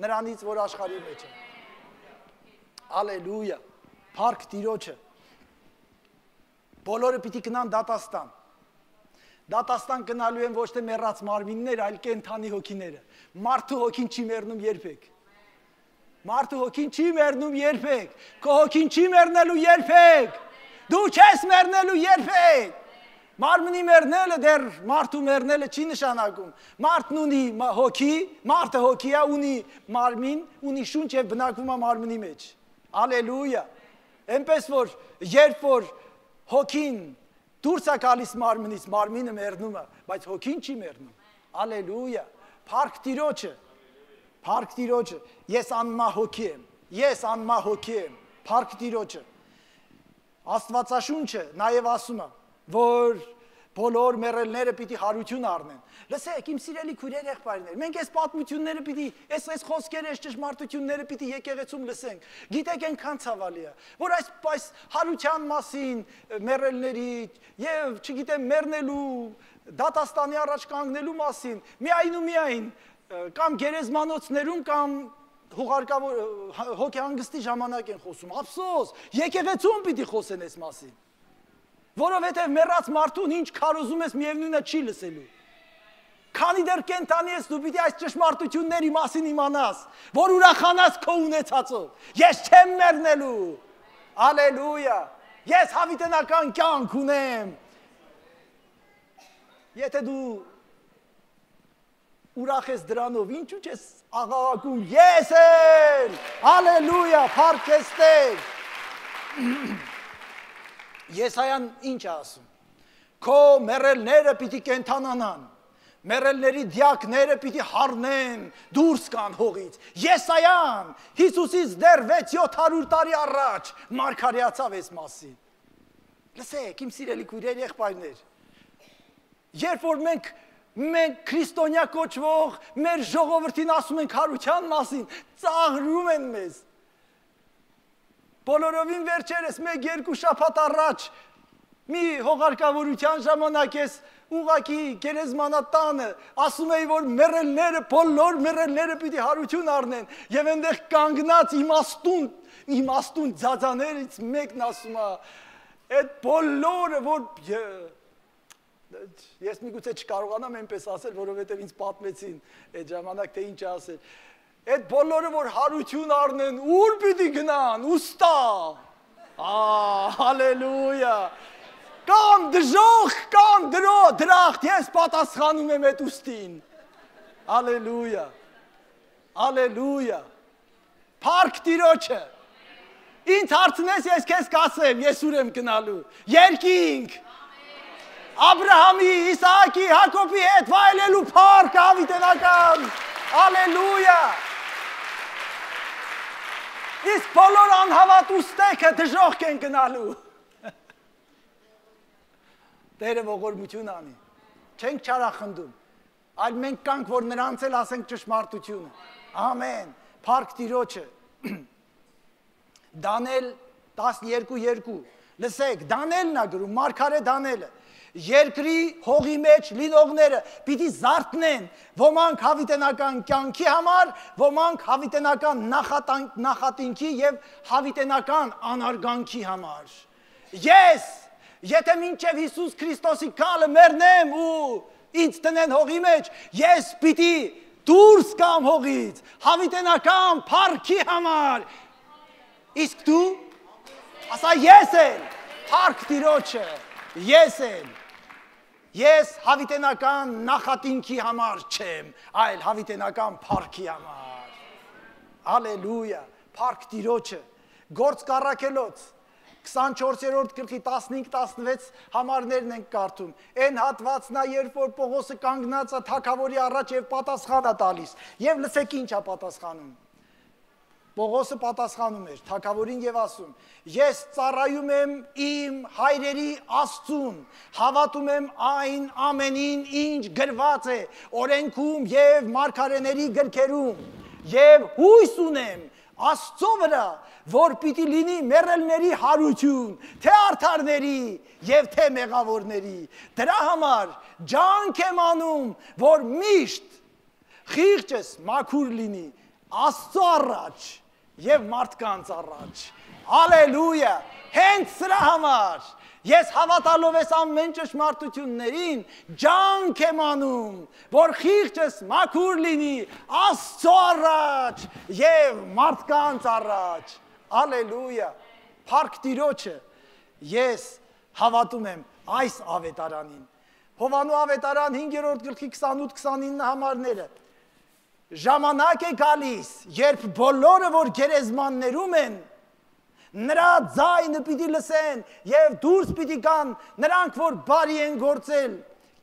նրանից որ աշխարհի մեջ է։ Ալելույա։ Փառք Տիրոջը։ Բոլորը պիտի գնան դատաստան։ Դատաստան գնալու են ոչ թե մեռած մարմինները, այլ կենդանի հոգիները։ Մարդու հոգին չի մեռնում երբեք։ Մարդու հոգին չի մեռնում երբեք։ Քո հոգին չի մեռնելու երբեք։ Դու չես մեռնելու երբեք։ Մարմնի մեռնելը դեռ մարդու մեռնելը չի նշանակում։ Մարդն ունի հոգի, մարդը հոգի է, ունի մարմին, ունի շունչ եւ բնակվում է մարմնի մեջ։ Ալելույա։ Էնպես որ երբ որ հոգին դուրս է գալիս մարմնից, մարմինը մեռնում է, բայց հոգին չի մեռնում։ Ալելույա։ Փառք Տիրոջը։ Փառք Տիրոջը։ Ես անմահ հոգի եմ։ Ես անմահ հոգի եմ։ Փառք Տիրոջը։ Աստվածաշունչը նաև ասում է, որ Բոլոր մեռելները պիտի հարություն առնեն։ Լսեք, իմ սիրելի քույրեր, եղբայրներ, մենք այս պատմությունները պիտի, այս խոսքերը, այս ճշմարտությունները պիտի եկեղեցում լսենք։ Գիտեք այնքան ցավալի է, որ այս հարության մասին մեռելների եւ, չգիտեմ, մեռնելու, դատաստանի առաջ կանգնելու մասին միայն ու միայն կամ գերեզմանոցներում կամ հոգեհանգստի ժամանակ են խոսում։ Ափսոս, եկեղեցում պիտի խոսեն այս մասին։ Որովհետև մեռած մարդուն ինչ քարոզում ես միևնույնը չի լսելու։ Քանի դեռ կենտանի ես դու պիտի այս ճշմարտությունների մասին իմանաս, որ ուրախանաս քո ունեցածով։ Ես չեմ մեռնելու։ Ալելույա։ Ես հավիտենական կյանք ունեմ։ Եթե դու ուրախ ես դրանով, ինչու՞ չես աղաղակում։ Ես եմ։ Ալելույա, փառք ես Տեր։ Եսայան ինչ է ասում։ Քո մեռելները պիտի կենթանանան, մեռելների դիակները պիտի հառնեն, դուրս կան հողից։ Եսայան Հիսուսից դեռ 600-700 տարի առաջ մարգարեացավ այս մասին։ Լսեք, իմ սիրելի քույրեր, եղբայրներ, երբ որ մենք քրիստոնյա կոչվող մեր ժողովրդին ասում ենք հարության մասին, ծաղրում են մեզ։ Բոլորովին վերջերս 1-2 շաբաթ առաջ մի հողարկավորության ժամանակ ես ուղակի գերեզմանատանը ասում էի, որ մեռելները, բոլոր մեռելները պիտի հարություն առնեն եւ այնտեղ կանգնած իմաստուն ձածաներից մեկն ասում է, այդ բոլորը, որ ես միգուցե չկարողանամ այնպես ասել, որովհետեւ ինձ պատմեցին այդ ժամանակ թե ինչ ասել։ Այդ բոլորը, որ հարություն առնեն, ուր պիտի գնան, ուստա, հալելույա, կամ դժող, կամ դրախտ, ես պատասխանում եմ այդ ուստին, հալելույա, հալելույա, փառք Տիրոջը, ինձ հարցնես, ես քեզ կասեմ, ես ուր եմ գնալու, երկինք, Աբրահամի, Իսահակի, Հակոբի հետ վայելելու փառք հավիտենական, հալելույա, իսկ բոլոր անհավատ ուստեքը դժոխք են գնալու։ Տերը ողորմություն անի, չենք չարախնդում, այլ մենք կանք, որ նրանց էլ ասենք ճշմարտությունը, ամեն, փառք Տիրոջը, Դանիել 12:2, լսեք, Դանիելն է գրում, մարգարե Դանիելը, երկրի հողի մեջ լինողները պիտի զարթնեն, ոմանք հավիտենական կյանքի համար, ոմանք հավիտենական նախատինքի և հավիտենական անարգանքի համար։ Ես, եթե մինչև Հիսուս Քրիստոսի գալը մեռնեմ ու ինձ տնեն հողի մեջ, ես պիտի դուրս գամ հողից, հավիտենական փառքի համար։ Իսկ դու, ասա ես եմ, փառք Տիրոջը, ես եմ։ Ես հավիտենական նախատինքի համար չեմ, այլ հավիտենական փառքի համար։ Ալելույա, փառք Տիրոջը։ Գործք առաքելոց 24-րդ գլխի 15-16 համարներն ենք կարդում։ Այն հատվածն է, երբ որ Պողոսը կանգնած է թագավորի առաջ եւ պատասխան է տալիս։ Եվ լսեք ինչ է պատասխանում։ Պողոսը պատասխանում էր թագավորին եւ ասում. Ես ծառայում եմ իմ հայրերի Աստծուն, հավատում եմ այն ամենին, ինչ գրված է օրենքում եւ մարգարեների գրքերում, եւ հույս ունեմ Աստծո վրա, որ պիտի լինի մեռելների հարություն, թե արդարների եւ թե մեղավորների։ Դրա համար ջանք եմ անում, որ միշտ խիղճս մաքուր լինի Աստծո առաջ եւ մարդկանց առաջ։ Ալելույա, հենց սրա համար ես հավատալով ես ամեն ճշմարտություններին ջանք եմ անում, որ խիղճս մաքուր լինի Աստծո առաջ եւ մարդկանց առաջ։ Ալելույա, փառք Տիրոջը, ես հավատում եմ այս ավետարանին։ Հովանու ավետարան 5-րդ գլխի 28-29 համարները։ Ժամանակ է գալիս, երբ բոլորը, որ գերեզմաններում են, նրա ձայնը պիտի լսեն եւ դուրս պիտի գան նրանք, որ բարի են գործել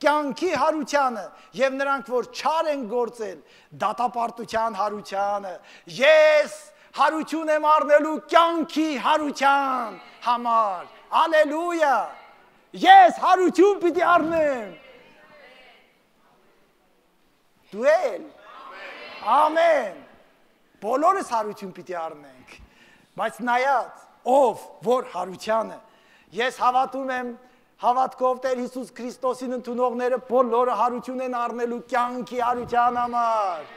կյանքի հարությանը եւ նրանք, որ չար են գործել դատապարտության հարությանը։ Ես հարություն եմ առնելու կյանքի հարության համար։ Ալելույա։ Ես հարություն պիտի առնեմ։ Դու էլ։ Ամեն։ Բոլորս հարություն պիտի առնենք։ Բայց նայած, ով որ հարությանը, ես հավատում եմ, հավատքով Տեր Հիսուս Քրիստոսին ընդունողները բոլորը հարություն են առնելու կյանքի հարության համար։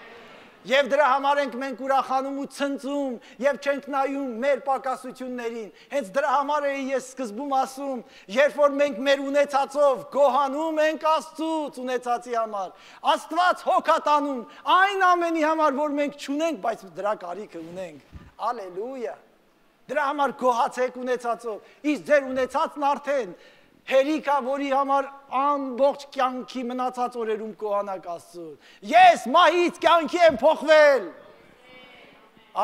Եվ դրա համար ենք մենք ուրախանում ու ցնծում եւ չենք նայում մեր պակասություններին։ Հենց դրա համար է ես սկզբում ասում, երբ որ մենք մեր ունեցածով գոհանում ենք Աստծուց ունեցածի համար, Աստված հոգատանում այն ամենի համար, որ մենք չունենք, բայց դրա կարիքը ունենք։ Ալելույա։ Դրա համար գոհացեք ունեցածով։ Իսկ ձեր ունեցածն արդեն հերիքա, որի համար ամբողջ կյանքի մնացած օրերում կոհանաք Աստծուն։ Ես մահից կյանքի եմ փոխվել։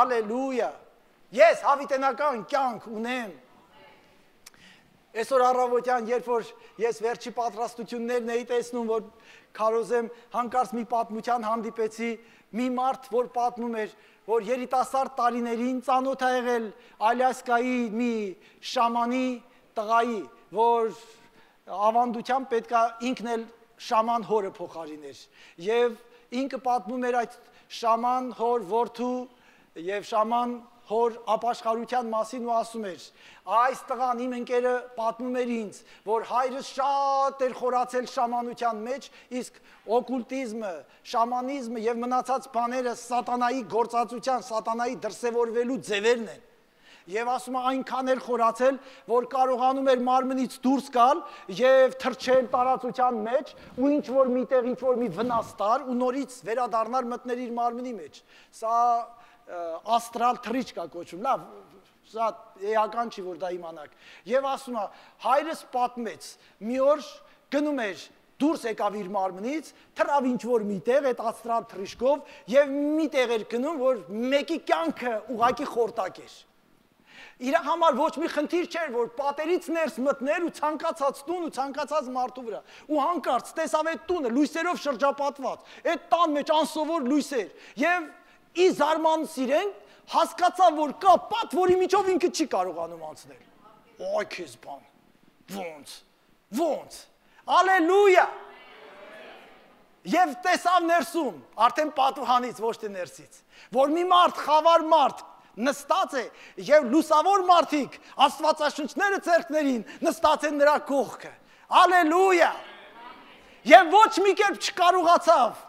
Ալելույա։ Ես հավիտենական կյանք ունեմ։ Այսօր առավոտյան, երբ որ ես վերջի պատրաստություններն էի տեսնում, որ քարոզեմ, հանկարծ մի պատմության հանդիպեցի, մի մարդ, որ պատմում էր, որ երիտասարդ տարիներին ծանոթ ա եղել Ալյասկայի մի շամանի տղայի, որ ավանդությամբ պետքա ինքն էլ շաման հորը փոխարիներ եւ ինքը պատմում էր այդ շաման հոր որդու եւ շաման հոր ապաշխարության մասին ու ասում էր այս տղան իմ ընկերը պատմում էր ինձ որ հայրս շատ էր խորացել շամանության մեջ իսկ օկուլտիզմը շամանիզմը եւ մնացած բաները սատանայի գործածության սատանայի դրսևորվելու ձևերն են Եվ ասում է այնքան էր խորացել, որ կարողանում էր մարմնից դուրս գալ եւ թռչել տարածության մեջ ու ինչ որ միտեղ ինչ որ մի վնաս տար ու նորից վերադառնալ մտներ իր մարմնի մեջ։ Սա աստրալ թռիչք կա կոչվում, լավ, սա էական չի որ դա իմանաք։ Եվ ասում է հայրս պատմեց, մի օր գնում էր դուրս եկավ իր մարմնից, թռավ ինչ որ միտեղ այդ աստրալ թռիչքով եւ միտեղ էր գնում, որ մեկի կյանքը ուղակի խորտակ էր։ Իր համար ոչ մի խնդիր չէր, որ պատերից ներս մտներ ու ցանկացած տուն ու ցանկացած մարդու վրա։ Ու հանկարծ տեսավ այդ տունը լույսերով շրջապատված, այդ տան մեջ անսովոր լույսեր։ Եվ ի զարմանս իրեն հասկացավ, որ կա պատ, որի միջով ինքը չի կարողանում անցնել։ Ոայ քեզ բան։ Ոնց։ Ալելույա։ Եվ տեսավ ներսում, արդեն պատուհանից, ոչ թե ներսից, որ մի մարդ, խավար մարդ նստած է եւ լուսավոր մարդիկ աստվածաշնչները ձեռքներին նստած են նրա կողքը ալելույա եւ ոչ մի կերպ չկարողացավ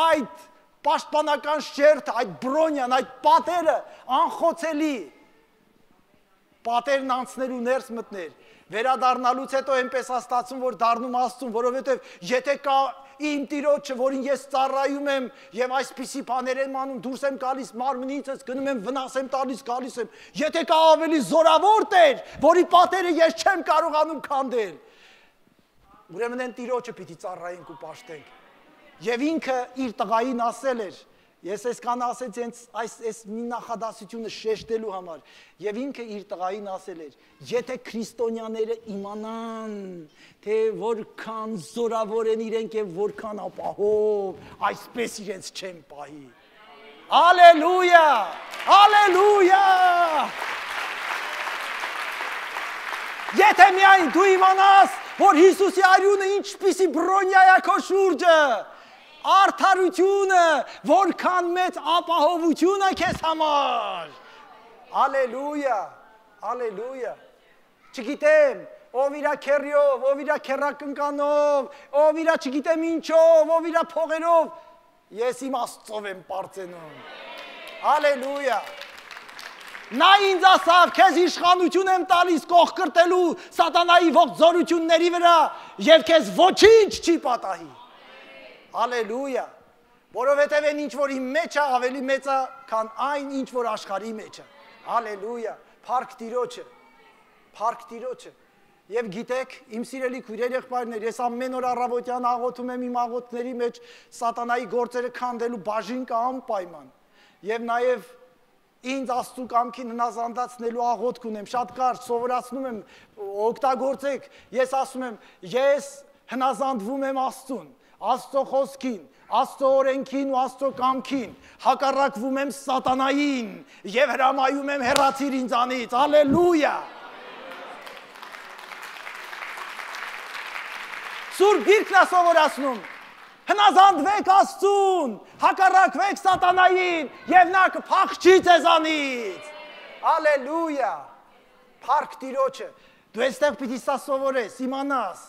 այդ պաշտպանական շերտը այդ բրոնյան այդ պատերը անխոցելի պատերն անցնելու ներս մտներ վերադառնալուց հետո այնպես աստացում որ դառնում Աստծուն որովհետեւ եթե կա իմ տիրոջը, որին ես ծառայում եմ եւ այսպիսի բաներ եմ անում, դուրս եմ գալիս մարմնիցս, գնում եմ վնաս եմ տալիս, գալիս եմ։ Եթե կա ավելի զորավոր Տեր, որի պատերը ես չեմ կարողանում քանդել։ Ուրեմն այն տիրոջը պիտի ծառայենք ու պաշտենք։ Եվ ինքը իր տղային ասել էր, ես այսքան ասեց այս մի նախադասությունը շեշտելու համար, եւ ինքը իր տղային ասել էր, եթե քրիստոնյաները իմանան, թե որքան զորավոր են իրենք եւ որքան ապահով, այսպես իրենց չեն պահի։ Ալելույա! Ալելույա! Եթե միայն դու իմանաս, որ Հիսուսի արյունը ինչպիսի բրոնյա է քո շուրջը, արդարությունը, որքան մեծ ապահովություն է քեզ համար։ Ալելույա, ալելույա։ Չգիտեմ, ով իրա քերիով, ով իրա քերակնկանով, ով իրա չգիտեմ ինչով, ով իրա փողերով, ես իմ Աստծով եմ պարծենում։ Ալելույա։ Նա ինձ ասավ, քեզ իշխանություն եմ տալիս կողքրտելու սատանայի ողջ զորությունների վրա եւ քեզ ոչինչ չի պատահի։ Ալելույա, որովհետև այն ինչ որ իմ մեջ է ավելի մեծ է, քան այն ինչ որ աշխարհի մեջ է։ Ալելույա, փառք Տիրոջը, փառք Տիրոջը։ Եվ գիտեք, իմ սիրելի քույրեր եղբայրներ, ես ամեն օր առավոտյան աղոթում եմ իմ աղոթքների մեջ սատանայի գործերը քանդելու բաժին կա անպայման։ Եվ նաև ինձ Աստծու կամքին հնազանդացնելու աղոթք ունեմ, շատ կարճ սովորացնում եմ, օգտագործեք, ես ասում եմ, ես հնազանդվում եմ Աստծուն, Աստծո խոսքին, Աստծո օրենքին ու Աստծո կամքին, հակառակվում եմ սատանային եւ հրամայում եմ հեռացիր ինձանից, ալելույա։ Սուրբ Գիրքն է սովորացնում։ Հնազանդվեք Աստծուն, հակառակվեք սատանային, եւ նա կփախչի ձեզանից։ Հալելույա։ Փառք Տիրոջը։ Դու այստեղ պիտի սա սովորես, իմանաս,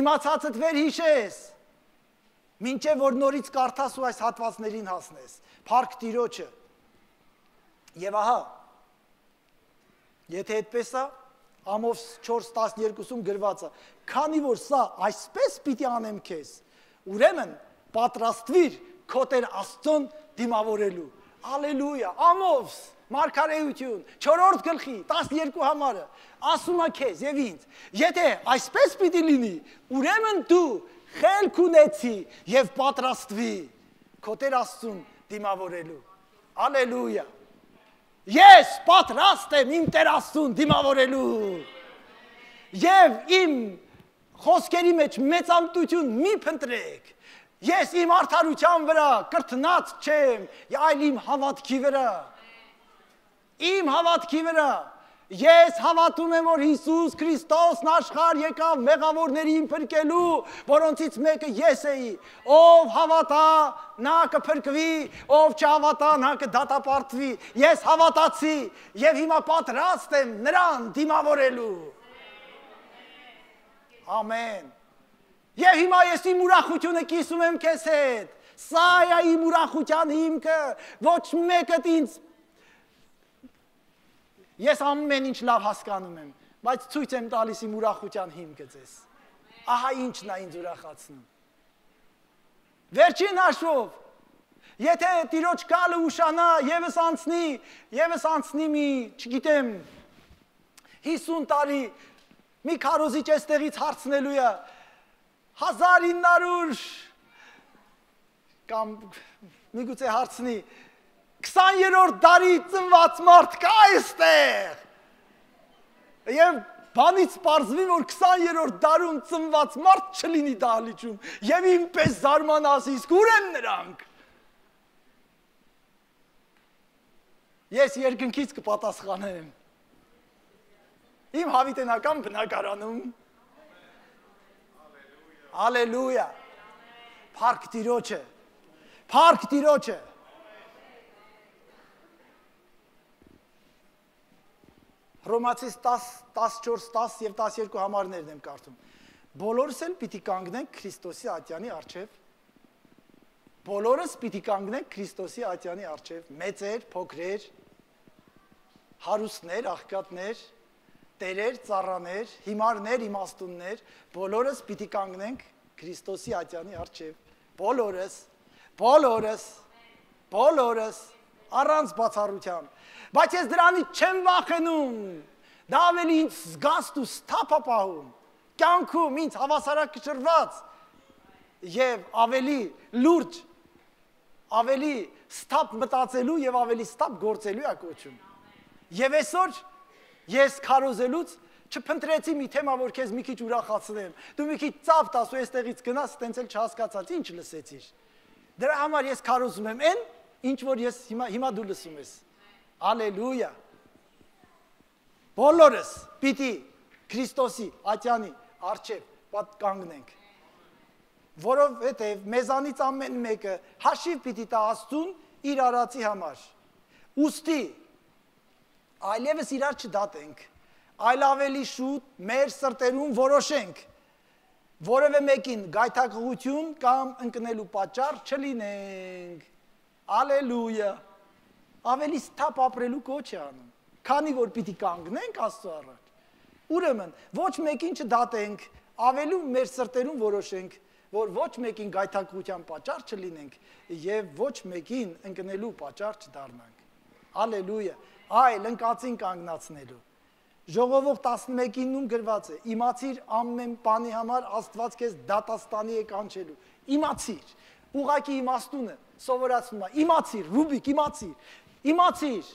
իմացածդ վերհիշես, մինչև որ նորից կարդաս ու այս հատվածներին հասնես։ Փառք Տիրոջը։ Եվ ահա, եթե այդպես է, Ամոս 4:12-ում գրված է, քանի որ սա այսպես պիտի անեմ քեզ, ուրեմն պատրաստվիր քո Տեր Աստծուն դիմավորելու։ Ալելույա, Ամոս, Մարգարեություն, 4-րդ գլխի 12 համարը, ասում է քեզ եւ ինձ, եթե այսպես պիտի լինի, ուրեմն դու խելք ունեցի եւ պատրաստվի քո Տեր Աստծուն դիմավորելու։ Ալելույա։ Ես պատրաստ եմ իմ Տեր Աստծուն դիմավորելու։ Եվ իմ խոսքերի մեջ մեծամտություն մի փնտրեք։ Ես իմ արդարության վրա կրթնած չեմ, այլ իմ հավատքի վրա։ Իմ հավատքի վրա։ Ես հավատում եմ, որ Հիսուս Քրիստոսն աշխարհ եկավ մեղավորներին փրկելու, որոնցից մեկը ես էի։ Ով հավատա, նա կփրկվի, ով չհավատա, նա կդատապարտվի։ Ես հավատացի եւ հիմա պատրաստ եմ նրան դիմավորելու։ Ամեն։ Եվ հիմա ես իմ ուրախությունը կիսում եմ քեզ հետ։ Սա է իմ ուրախության հիմքը, ոչ մեկը ինձ Ես ամեն ինչ լավ հասկանում եմ, բայց ցույց եմ տալիս իմ ուրախության հիմքը ձեզ։ Ահա ինչն է ինձ ուրախացնում։ Վերջին հաշվով, եթե Տիրոջ կալը ուշանա, եւս անցնի մի, չգիտեմ, 50 տարի մի քարոզիչ էստեղից հարցնելու է 1900 կամ միգուցե հարցնի 20-րդ դարի ծնված մարդ կա այստեղ։ Եվ բանից պարզվի, որ 20-րդ դարում ծնված մարդ չլինի դահլիճում, եւ ինպես զարմանաս, իսկ ուր են նրանք։ Ես երկնքից կպատասխանեմ։ Իմ հավիտենական բնակարանում։ Ալելույա։ Փառք Տիրոջը։ Փառք Տիրոջը։ Հռոմացիս 10:14-10 եւ 12 համարներն եմ կարդում։ Բոլորս էլ պիտի կանգնենք Քրիստոսի ատյանի առջև։ Բոլորս պիտի կանգնենք Քրիստոսի ատյանի առջև, մեծեր, փոքրեր, հարուստներ, աղքատներ, տերեր, ծառաներ, հիմարներ, իմաստուններ, բոլորս պիտի կանգնենք Քրիստոսի ատյանի առջև։ Բոլորս, առանց բացառության։ Բայց ես դրանից չեմ վախենում, դա ավելի ինձ զգաստ ու սթափ է պահում, կյանքում ինձ հավասարակշռված եւ ավելի լուրջ, ավելի սթափ մտածելու եւ ավելի սթափ գործելու է կոչում։ Եվ այսօր ես քարոզելուց չփնտրեցի մի թեմա, որ քեզ մի քիչ ուրախացնեմ, դու մի քիչ ծափ տաս ու այստեղից գնաս, տենց էլ չհասկացած, ինչ լսեցիր։ Դրա համար ես քարոզում եմ այն, ինչ որ ես հիմա դու լսում ես։ Ալելույա։ Բոլորս պիտի Քրիստոսի ատյանի առջև կանգնենք, որովհետև մեզանից ամեն մեկը հաշիվ պիտի տա Աստծուն իր արածի համար։ Ուստի այլևս իրար չդատենք, այլ ավելի շուտ մեր սրտերում որոշենք, որևէ մեկին գայթակղություն կամ ընկնելու պատճառ չլինենք։ Ալելույա։ Ավելի սթափ ապրելու կոչ է անում, քանի որ պիտի կանգնենք Աստծո առաջ։ Ուրեմն ոչ մեկին չդատենք, ավելի մեր սրտերում որոշենք, որ ոչ մեկին գայթակղության պատճառ չլինենք եւ ոչ մեկին ընկնելու պատճառ չդառնանք։ Ալելույա։ Այլ ընկածին կանգնացնելու։ Ժողովող 11-ում գրված է. իմացիր ամեն բանի համար Աստված քեզ դատաստանի է կանչելու։ Իմացիր։ Ուղղակի իմաստունը սովորացնում է։ Իմացիր, Ռուբիկ, իմացիր,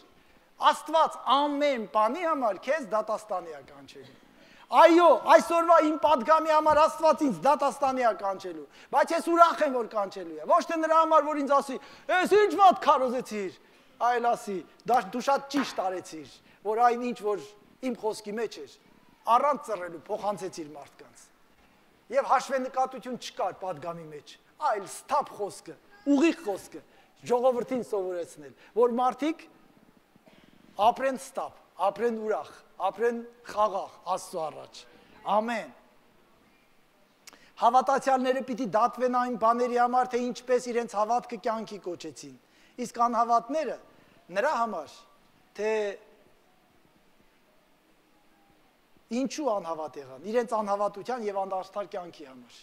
Աստված ամեն բանի համար քեզ դատաստանի է կանչելու։ Այո, այսօրվա իմ պատգամի համար Աստված ինձ դատաստանի է կանչելու, բայց ես ուրախ եմ, որ կանչելու է։ Ոչ թե նրա համար, որ ինձ ասի, «Էս ինչ վատ քարոզեցիր», այլ ասի, «Դու շատ ճիշտ արեցիր, որ այն ինչ որ իմ խոսքի մեջ էր, առանց ծռելու փոխանցեցիր մարդկանց»։ Եվ հաշվենկատություն չկար պատգամի մեջ, այլ ստապ խոսքը, ուղիղ խոսքը, ժողովրդին սովորեցնել, որ մարդիկ ապրեն ստապ, ապրեն ուրախ, ապրեն խաղաղ Աստծո առաջ։ Ամեն։ Հավատացյալները պիտի դատվեն այն բաների համար, թե ինչպես իրենց հավատքը կյանքի կոչեցին։ Իսկ անհավատները նրա համար, թե ինչու անհավատ եղան, իրենց անհավատության եւ անդաստար կյանքի համար։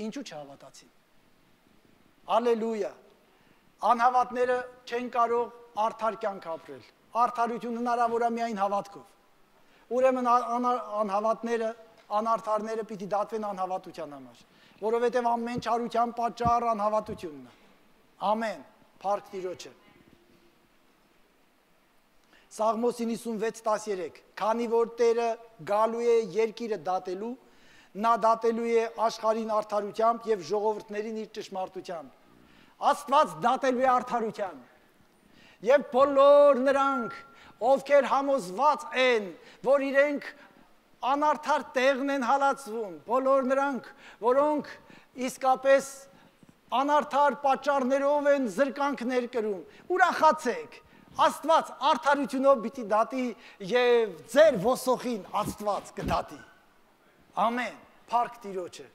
Ինչու չհավատացին։ Ալելույա։ Անհավատները չեն կարող արդար կյանք ապրել։ Արդարություն հնարավոր է միայն հավատքով։ Ուրեմն անհավատները, անարդարները պիտի դատվեն անհավատության համար, որովհետև ամեն չարության պատճառ անհավատությունն է։ Ամեն, փառք Տիրոջը։ Սաղմոս 96:13, քանի որ Տերը գալու է երկիրը դատելու, նա դատելու է աշխարհին արդարությամբ եւ ժողովուրդներին իր ճշմարտությամբ։ Աստված դատելու է արդարությամբ։ Եվ բոլոր նրանք, ովքեր համոզված են, որ իրենք անարդար տեղն են հալածվում, բոլոր նրանք, որոնք իսկապես անարդար պատճառներով են զրկանքներ կրում, ուրախացեք, Աստված արդարությունով պիտի դատի եւ ձեր ոսոխին Աստված կդատի։ Ամեն, փառք Տիրոջը։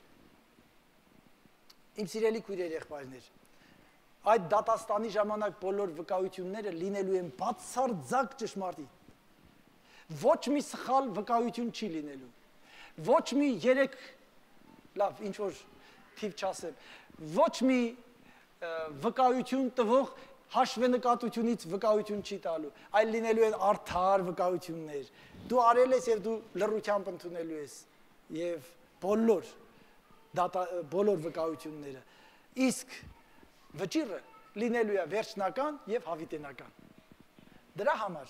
Իմ սիրելի քույրեր, եղբայրներ, այդ դատաստանի ժամանակ բոլոր վկայությունները լինելու են բացարձակ ճշմարիտ։ Ոչ մի սխալ վկայություն չի լինելու։ Ոչ մի երեք, լավ, ինչ որ թիվ չասեմ, ոչ մի վկայություն տվող հաշվենկատությունից վկայություն չի տալու, այլ լինելու են արդար վկայություններ։ Դու արել ես եւ դու լռությամբ ընդունելու ես եւ բոլոր վկայությունները։ Իսկ վճիռը լինելու է վերջնական եւ հավիտենական։ Դրա համար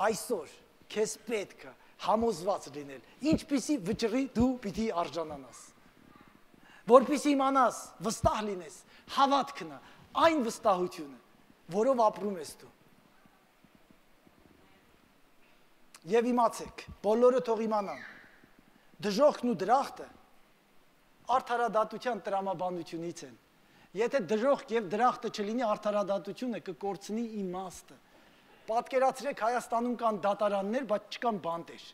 այսօր քեզ պետք է համոզված լինել, ինչպիսի վճռի դու պիտի արժանանաս։ Որպեսզի իմանաս, վստահ լինես, հավատքն է, այն վստահությունը, որով ապրում ես դու։ Եվ իմացեք, բոլորը թող իմանան, դժոխքն ու դրախտը արդարադատության տրամաբանությունից են։ Եթե դժոխք եւ դրախտը չլինի, արդարադատությունը կկորցնի իմաստը։ Պատկերացրեք, Հայաստանում կան դատարաններ, բայց չկան բանտեր։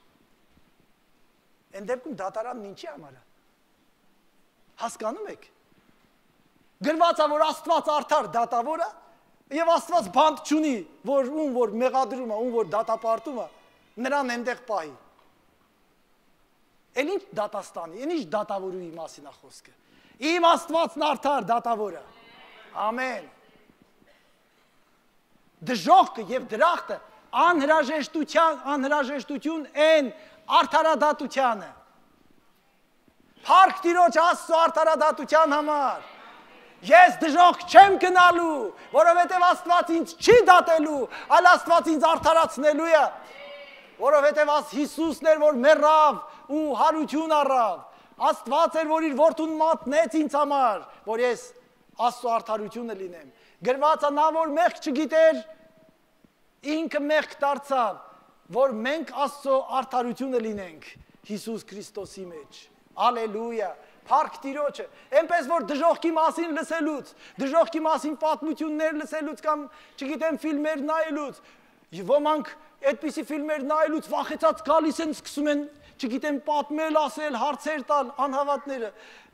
Այն դեպքում դատարանն ինչի համար է։ Հասկանում եք։ Գրված է, որ Աստված արդար դատավոր է, եւ Աստված բանտ չունի, որ ում որ մեղադրում է, ում որ դատապարտում է, նրան այնտեղ պահի։ Էլ ինչ դատաստանի, այն ինչ դատավորուի մասին է խոսքը։ Իմ Աստվածն արդար դատավոր է։ Ամեն։ Դժոխքը եւ դրախտը անհրաժեշտություն են արդարադատությանը։ Փառք Տիրոջ Աստծո արդարադատության համար։ Ես դժոխք չեմ գնալու, որովհետև Աստված ինձ չի դատելու, այլ Աստված ինձ արդարացնելու է։ Որովհետև Հիսուսն էր, որ մեռավ ու հարություն առավ։ Աստված էր, որ իր որդուն մատնեց ինձ համար, որ ես Աստծո արդարությունը լինեմ։ Գրված է, նա որ մեղք չգիտեր, ինքը մեղք դարձավ, որ մենք Աստծո արդարությունը լինենք Հիսուս Քրիստոսի մեջ։ Ալելույա։ Փառք Տիրոջը, այնպես որ դժոխքի մասին լսելուց, դժոխքի մասին պատմություններ լսելուց կամ, չգիտեմ, ֆիլմեր նայելուց, ոմանք այդպիսի ֆիլմեր նայելուց վախեցած գալիս են, սկսում են, չգիտեմ, պատմել, ասել, հարցեր տալ անհավատները։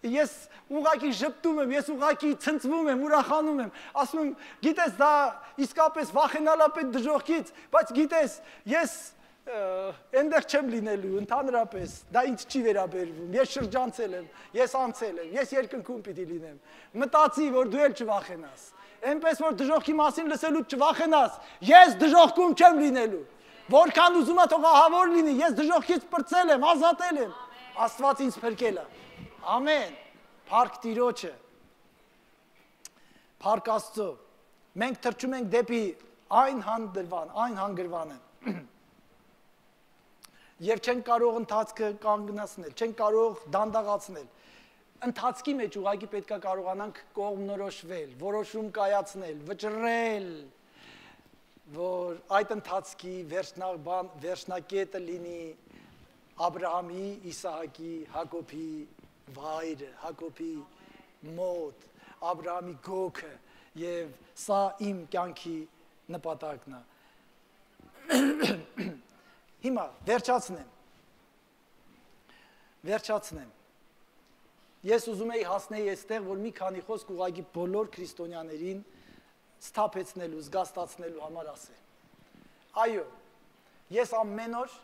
Ես ուղղակի ժպտում եմ, ես ուղղակի ցնցվում եմ, ուրախանում եմ, ասում եմ, գիտես, դա իսկապես վախենալ է պետք դժոխքից, բայց գիտես, ես այնտեղ չեմ լինելու, ընդհանրապես, դա ինձ չի վերաբերվում, ես շրջանցել եմ, ես անցել եմ, ես երկնքում պիտի լինեմ, մտածի, որ դու էլ չվախենաս, այնպես որ դժոխքի մասին լսելուց չվախենաս, ես դժոխքում չեմ լինելու, որքան ուզում է թող ահավոր լինի, ես դժոխքից պրծել եմ, ազատել եմ, Աստված ինձ փրկել է, ամեն, փառք Տիրոջը, փառք Աստծո, մենք թռչում ենք դեպի այն հանգրվանը, Եվ չեն կարող ընթացքը կանգնացնել, չեն կարող դանդաղացնել։ Ընթացքի մեջ ուղղակի պետք է կարողանանք կողմնորոշվել, որոշում կայացնել, վճռել, որ այդ ընթացքի վերջնակետը լինի Աբրահամի, Իսահակի, Հակոբի վայրը, Հակոբի մոտ, Աբրահամի գոգը, եւ սա իմ կյանքի նպատակն է։ Հիմա վերջացնեմ։ Ես ուզում եի հասնել այստեղ, որ մի քանի խոսք ուղղակի բոլոր քրիստոնյաներին սթափեցնելու, զգաստացնելու համար ասեմ։ Այո, ես ամեն օր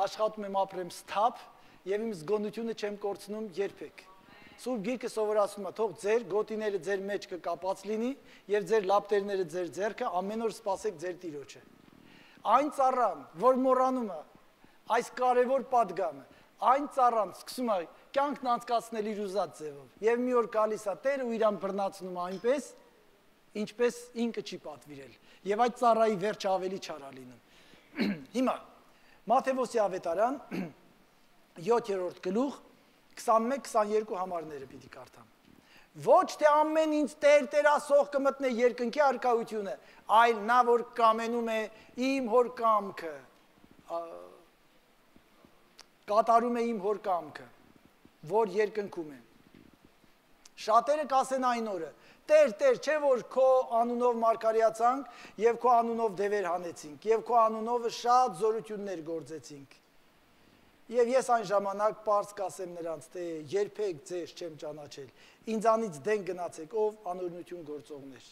աշխատում եմ ապրեմ սթափ եւ իմ զգոնությունը չեմ կորցնում երբեք։ Սուրբ Գիրքը սովորացնում է, թող ձեր գոտիները ձեր մեջ կկապած լինի եւ ձեր լապտերները ձեր ձեռքը ամեն օր սպասեք ձեր Տիրոջը։ Այն ծառան, որ մոռանում է այս կարևոր պատգամը, այն ծառան սկսում է կյանքն անցկացնել իր ուզած ձևով եւ մի օր գալիս է Տերը ու իրան բռնացնում է այնպես, ինչպես ինքը չի պատվիրել եւ այդ ծառայի վերջը ավելի չար է լինում։ Հիմա Մատթեոսի ավետարան 7-րդ գլուխ 21-22 համարները պիտի կարդամ։ Ոչ թե ամեն ինձ Տեր ասող կմտնե երկնքի արքայությունը, այլ նա որ կամենում է իմ հոր կամքը, կատարում է իմ հոր կամքը, որ երկնքում է։ Շատերը կասեն այն օրը. Տեր, չէ որ քո անունով մարգարեացանք եւ քո անունով դևեր հանեցինք եւ քո անունով շատ զորություններ գործեցինք։ Եվ ես այն ժամանակ պարզ կասեմ նրանց, թե երբեք ձեզ չեմ ճանաչել, ինձանից դեն գնացեք, ով անօրենություն գործողներ։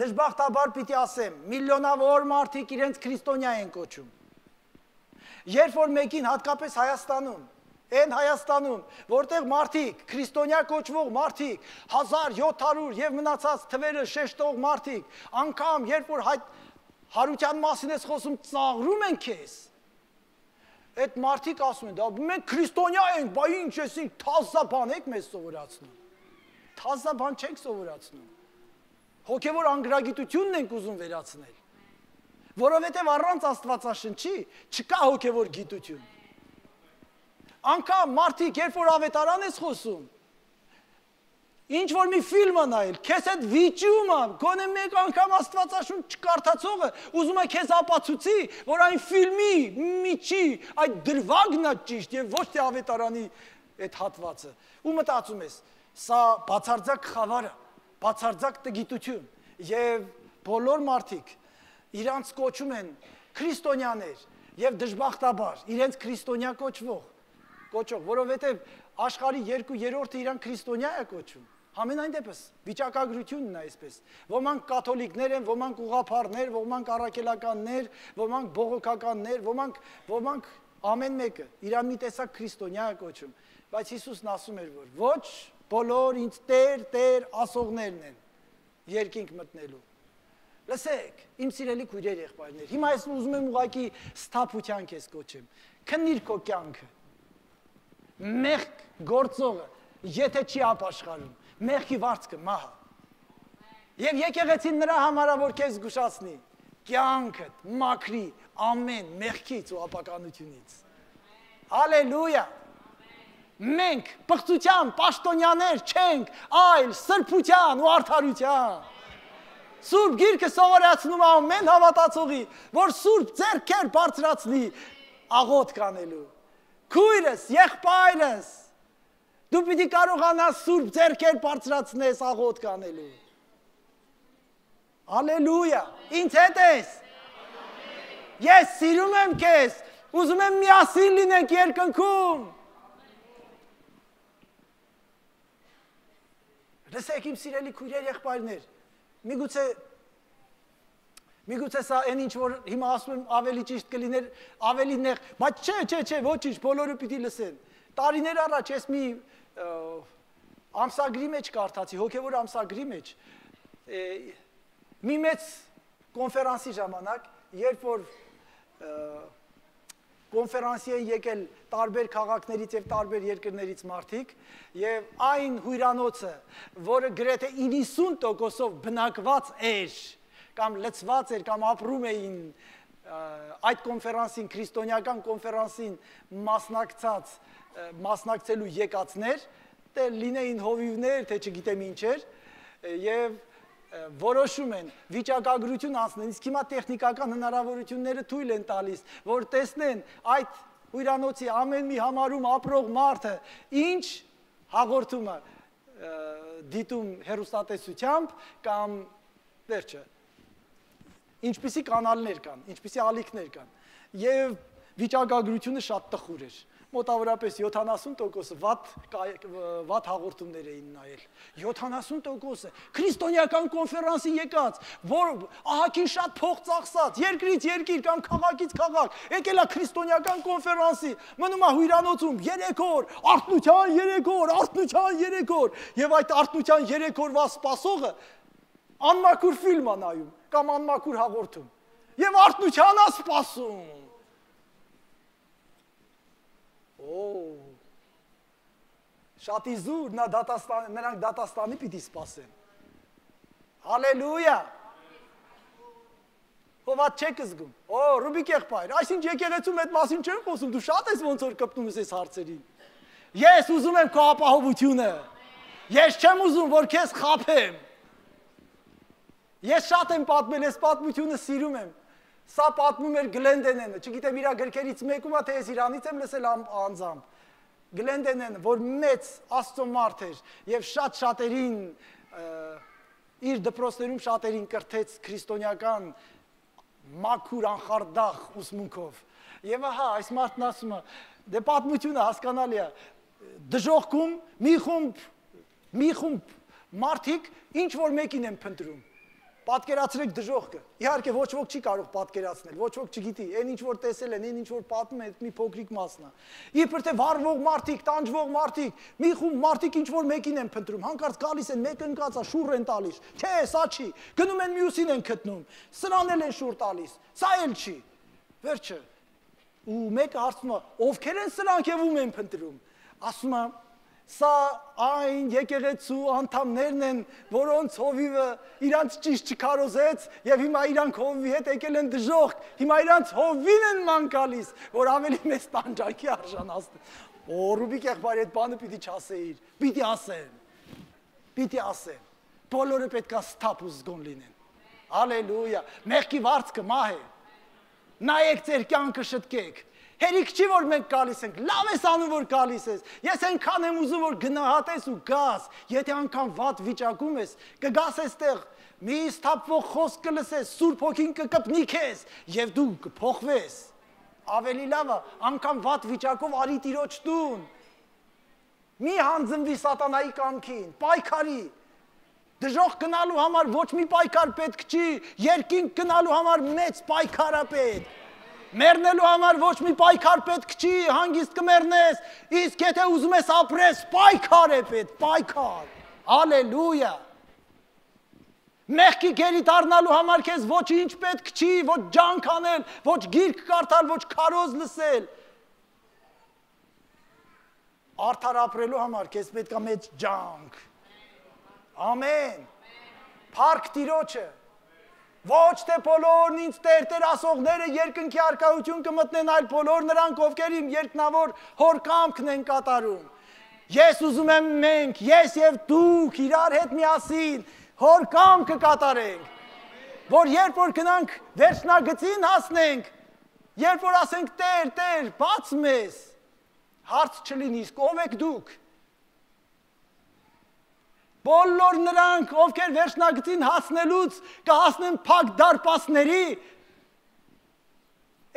Դժբախտաբար պիտի ասեմ, միլիոնավոր մարդիկ իրենց քրիստոնյա են կոչում։ Երբ որ մեկին հատկապես Հայաստանում, այն Հայաստանում, որտեղ մարդիկ, քրիստոնյա կոչվող մարդիկ, 1700 եւ մնացած թվերը շեշտող մարդիկ, անգամ երբ որ հարության մասին ես խոսում, ծաղրում են քեզ։ Այդ մարդիկ ասում են, դա մենք քրիստոնյա ենք, բա ինչ էսինք, թազաբան եք մեզ սովորացնում։ Թազաբան չենք սովորացնում։ Հոգևոր անգրագիտությունն ենք ուզում վերացնել։ Որովհետև առանց Աստվածաշնչի չկա հոգևոր գիտություն։ Անկամ մարդիկ, երբ որ ավետարան ես խոսում, ինչ որ մի ֆիլմը նայել, քեզ այդ վիճումը, գոնե մեկ անգամ Աստվածաշունչ չկարդացողը ուզում է քեզ ապացուցի, որ այն ֆիլմի միջի այդ դրվագն է ճիշտ եւ ոչ թե ավետարանի այդ հատվածը։ Ու մտածում ես, սա բացարձակ խավար է, բացարձակ տգիտություն եւ բոլոր մարդիկ իրանց կոչում են քրիստոնյաներ եւ դժբախտաբար իրենց քրիստոնյա կոչվող, որովհետեւ աշխարհի 2/3-ը իրան քրիստոնյա է կոչում։ Համենայն դեպս վիճակագրությունն է այսպես։ Ոմանք կաթոլիկներ են, ոմանք ուղղափառներ, ոմանք առաքելականներ, ոմանք բողոքականներ, ոմանք ամեն մեկը իրան մի տեսակ քրիստոնյա է կոչում։ Բայց Հիսուսն ասում էր, որ ոչ բոլոր ինձ Տեր ասողներն են երկինք մտնելու։ Լսեք, իմ սիրելի քույրեր եղբայրներ, հիմա ես ուզում եմ ուղղակի սթափության քեզ կոչեմ։ Քննիր քո կյանքը։ Մեղք գործողը, եթե չի ապաշխարում, մեղքի վարձքը մահ է։ Եվ եկեղեցին նրա համար է, որ քեզ զգուշացնի, կյանքդ մաքրի ամեն մեղքից ու ապականությունից։ Հալելույա։ Մենք պղծության պաշտոնյաներ չենք, այլ սրբության ու արդարության։ Սուրբ Գիրքը սովորացնում է ամեն հավատացողի, որ սուրբ ձեռքեր բարձրացնի աղոթք անելու։ Քույրս, եղբայրս, դու պիտի կարողանաս սուրբ ձեռքեր բարձրացնես աղոթք անելու։ Հալելույա, ինձ հետ ես։ Ես սիրում եմ քեզ, ուզում եմ միասին լինենք երկնքում։ Լսեք իմ սիրելի քույրեր եղբայրներ, միգուցե սա այն ինչ որ հիմա ասում եմ ավելի ճիշտ կլիներ, ավելի նեղ, բայց չէ, ոչինչ, բոլորը պիտի լսեն։ Տարիներ առաջ ես մի ամսագրի մեջ կարդացի, հոգևոր ամսագրի մեջ, մի մեծ կոնֆերանսի ժամանակ, երբ որ կոնֆերանսի են եկել տարբեր քաղաքներից եւ տարբեր երկրներից մարդիկ եւ այն հյուրանոցը, որը գրեթե 90%-ով բնակված էր կամ լցված էր կամ ապրում էին այդ կոնֆերանսին, քրիստոնեական կոնֆերանսին մասնակցելու եկածներ, թե լինեին հովիվներ, թե չգիտեմ ինչեր, եւ որոշում են վիճակագրություն անցնեն, իսկ հիմա տեխնիկական հնարավորությունները թույլ են տալիս, որ տեսնեն այդ հյուրանոցի ամեն մի համարում ապրող մարդը ինչ հաղորդումը դիտում հեռուստատեսությամբ կամ վերջը ինչպիսի կանալներ կան, ինչպիսի ալիքներ կան եւ վիճակագրությունը շատ տխուր էր մոտավորապես 70% վատ հաղորդումներ էին նայել 70% քրիստոնեական կոնֆերանսի եկած որ ահագին շատ փող ծախսած երկրից երկիր կամ քաղաքից քաղաք եկել է քրիստոնեական կոնֆերանսի մնում է հյուրանոցում 3 օր արթնության 3 օր եւ այդ արթնության 3 օրվա սպասողը անմաքուր ֆիլմ է նայում կամ անմաքուր հաղորդում եւ արթնության է սպասում Շատ իզուր նրանք դատաստանի պիտի սպասեն Հալելույա Հովատ չեք զգում Ռուբիկ եղբայր այսինչ եկեղեցում այդ մասին չեն խոսում դու շատ ես ոնց որ կպտում ես այս հարցերին Ես ուզում եմ քո ապահովությունը Ես չեմ ուզում որ քեզ խաբեմ Ես շատ եմ պատմել այս պատմությունը սիրում եմ Սա պատմում էր Գլենդենենը, չգիտեմ իր գրքերից մեկում է, թե ես իրանից եմ լսել անձամբ։ Գլենդենենը, որ մեծ Աստծո մարդ էր եւ շատ շատերին իր դպրոցներում շատերին կրթեց քրիստոնեական մաքուր անխարդախ ուսմունքով։ Եվ ահա այս մարդն ասում է, դե պատմությունը հասկանալի է, դժոխքում մի խումբ մարդիկ ինչ որ մեկին են փնտրում։ Պատկերացրեք դժոխքը։ Իհարկե ոչ ոք չի կարող պատկերացնել, ոչ ոք չգիտի, այն ինչ որ տեսել են, այն ինչ որ պատմում են, մի փոքրիկ մասն է։ Իբր թե վառվող մարդիկ, տանջվող մարդիկ, մի խումբ մարդիկ ինչ որ մեկին են փնտրում, հանկարծ գալիս են, մեկը ընկած է, շուռ են տալիս։ Չէ, սա չի։ Գնում են մյուսին են գտնում։ Սրան էլ են շուռ տալիս։ Սա էլ չի։ Վերջը։ Ու մեկը հարցնում է, ովքեր են սրանք եւ ում են փնտրում։ Ասում է Սա այն եկեղեցու անդամներն են, որոնց հովիվը իրանց ճիշտ չքարոզեց եւ հիմա իրանք հովիվի հետ եկել են դժոխք, հիմա իրանց հովին են ման գալիս, որ ավելի մեծ տանջանքի արժանացնեն։ Ռուբիկ եղբայր այդ բանը պիտի չասեիր, պիտի ասեն։ Բոլորը պետք է սթափ ու զգոն լինեն։ Հալելույա։ Մեղքի վարձքը մահ է։ Նայեք ձեր կյանքը շտկեք։ Հերիք չի, որ մենք գալիս ենք, լավ ես անում, որ գալիս ես, ես ենքան եմ ուզում, որ գնահատես ու գաս, եթե անգամ վատ վիճակում ես, կգաս եստեղ, մի սթափվող խոսք կլսես, Սուրբ Հոգին կկպնի քեզ, և դու կփոխվես, ավելի լավը, անգամ վատ վիճակով արի Տիրոջ տուն, մի հանձնվի սատանայի կամքին, պայքարի, դժոխք գնալու համար ոչ մի պայքար պետք չի, երկինք գնալու համար մեծ պայքար է պետք, Մեռնելու համար ոչ մի պայքար պետք չի, հանգիստ կմեռնես, իսկ եթե ուզում ես ապրես, պայքար է պետք, պայքար, հալելույա։ Մեղքի գերի դառնալու համար քեզ ոչինչ պետք չի, ոչ ջանք անել, ոչ գիրք կարդալ, ոչ քարոզ լսել։ Արդար ապրելու համար քեզ պետք է մեծ ջանք։ Ամեն։ Փառք Տիրոջը։ Ոչ թե բոլորն ինձ Տեր ասողները երկնքի առկայություն կմտնեն, այլ բոլոր նրանք, ովքեր իմ երկնավոր հոր կամքն են կատարում։ Ես ուզում եմ մենք, ես եւ դուք իրար հետ միասին հոր կամքը կատարենք, որ երբ որ գնանք վերջնագծին հասնենք, երբ որ ասենք Տեր, բաց մեզ, հարց չլինի, իսկ ով եք դուք։ Բոլոր նրանք, ովքեր վերջնագծին հասնելուց կհասնեն փակ դարպասների,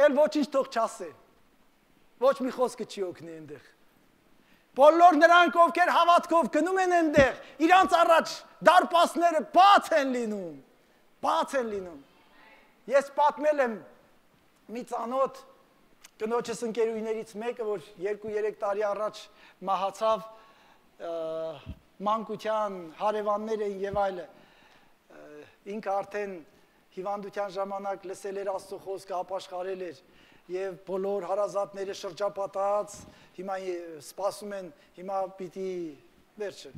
էլ ոչինչ թող չասեն, ոչ մի խոսքը չի օգնի այնտեղ։ Բոլոր նրանք, ովքեր հավատքով գնում են այնտեղ, իրանց առաջ դարպասները բաց են լինում։ Ես պատմել եմ մի ծանոթ կնոջս ընկերուհիներից մեկը, որ 2-3 տարի առաջ մահացավ, մանկության հարևաններ էին եւ այլը ինքը արդեն հիվանդության ժամանակ լսել էր Աստծո խոսքը ապաշխարել էր եւ բոլոր հարազատները շրջապատած հիմա սպասում են հիմա պիտի վերջը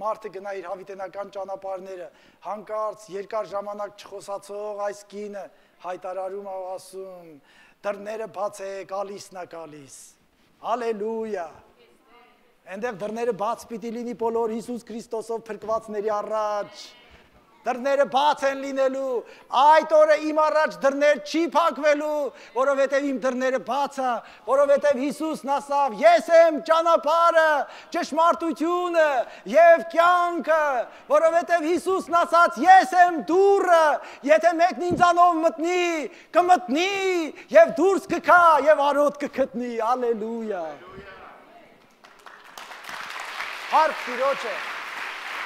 մարդը գնա իր հավիտենական ճանապարհները հանկարծ երկար ժամանակ չխոսացող այս կինը հայտարարում է ասում դռները բացեք գալիսն է գալիս հալելույա Այնտեղ դռները բաց պիտի լինի բոլոր Հիսուս Քրիստոսով փրկվածների առաջ։ Դռները բաց են լինելու, այդ օրը իմ առաջ դռներ չի փակվելու, որովհետև իմ դռները բաց է, որովհետև Հիսուսն ասավ. Ես եմ ճանապարհը, ճշմարտությունը եւ կյանքը, որովհետև Հիսուսն ասաց. Ես եմ դուռը, եթե մեկն ինձանով մտնի, կմտնի եւ դուրս կգա եւ արոտ կգտնի։ Հալելույա։ Հարկ Տիրոջը։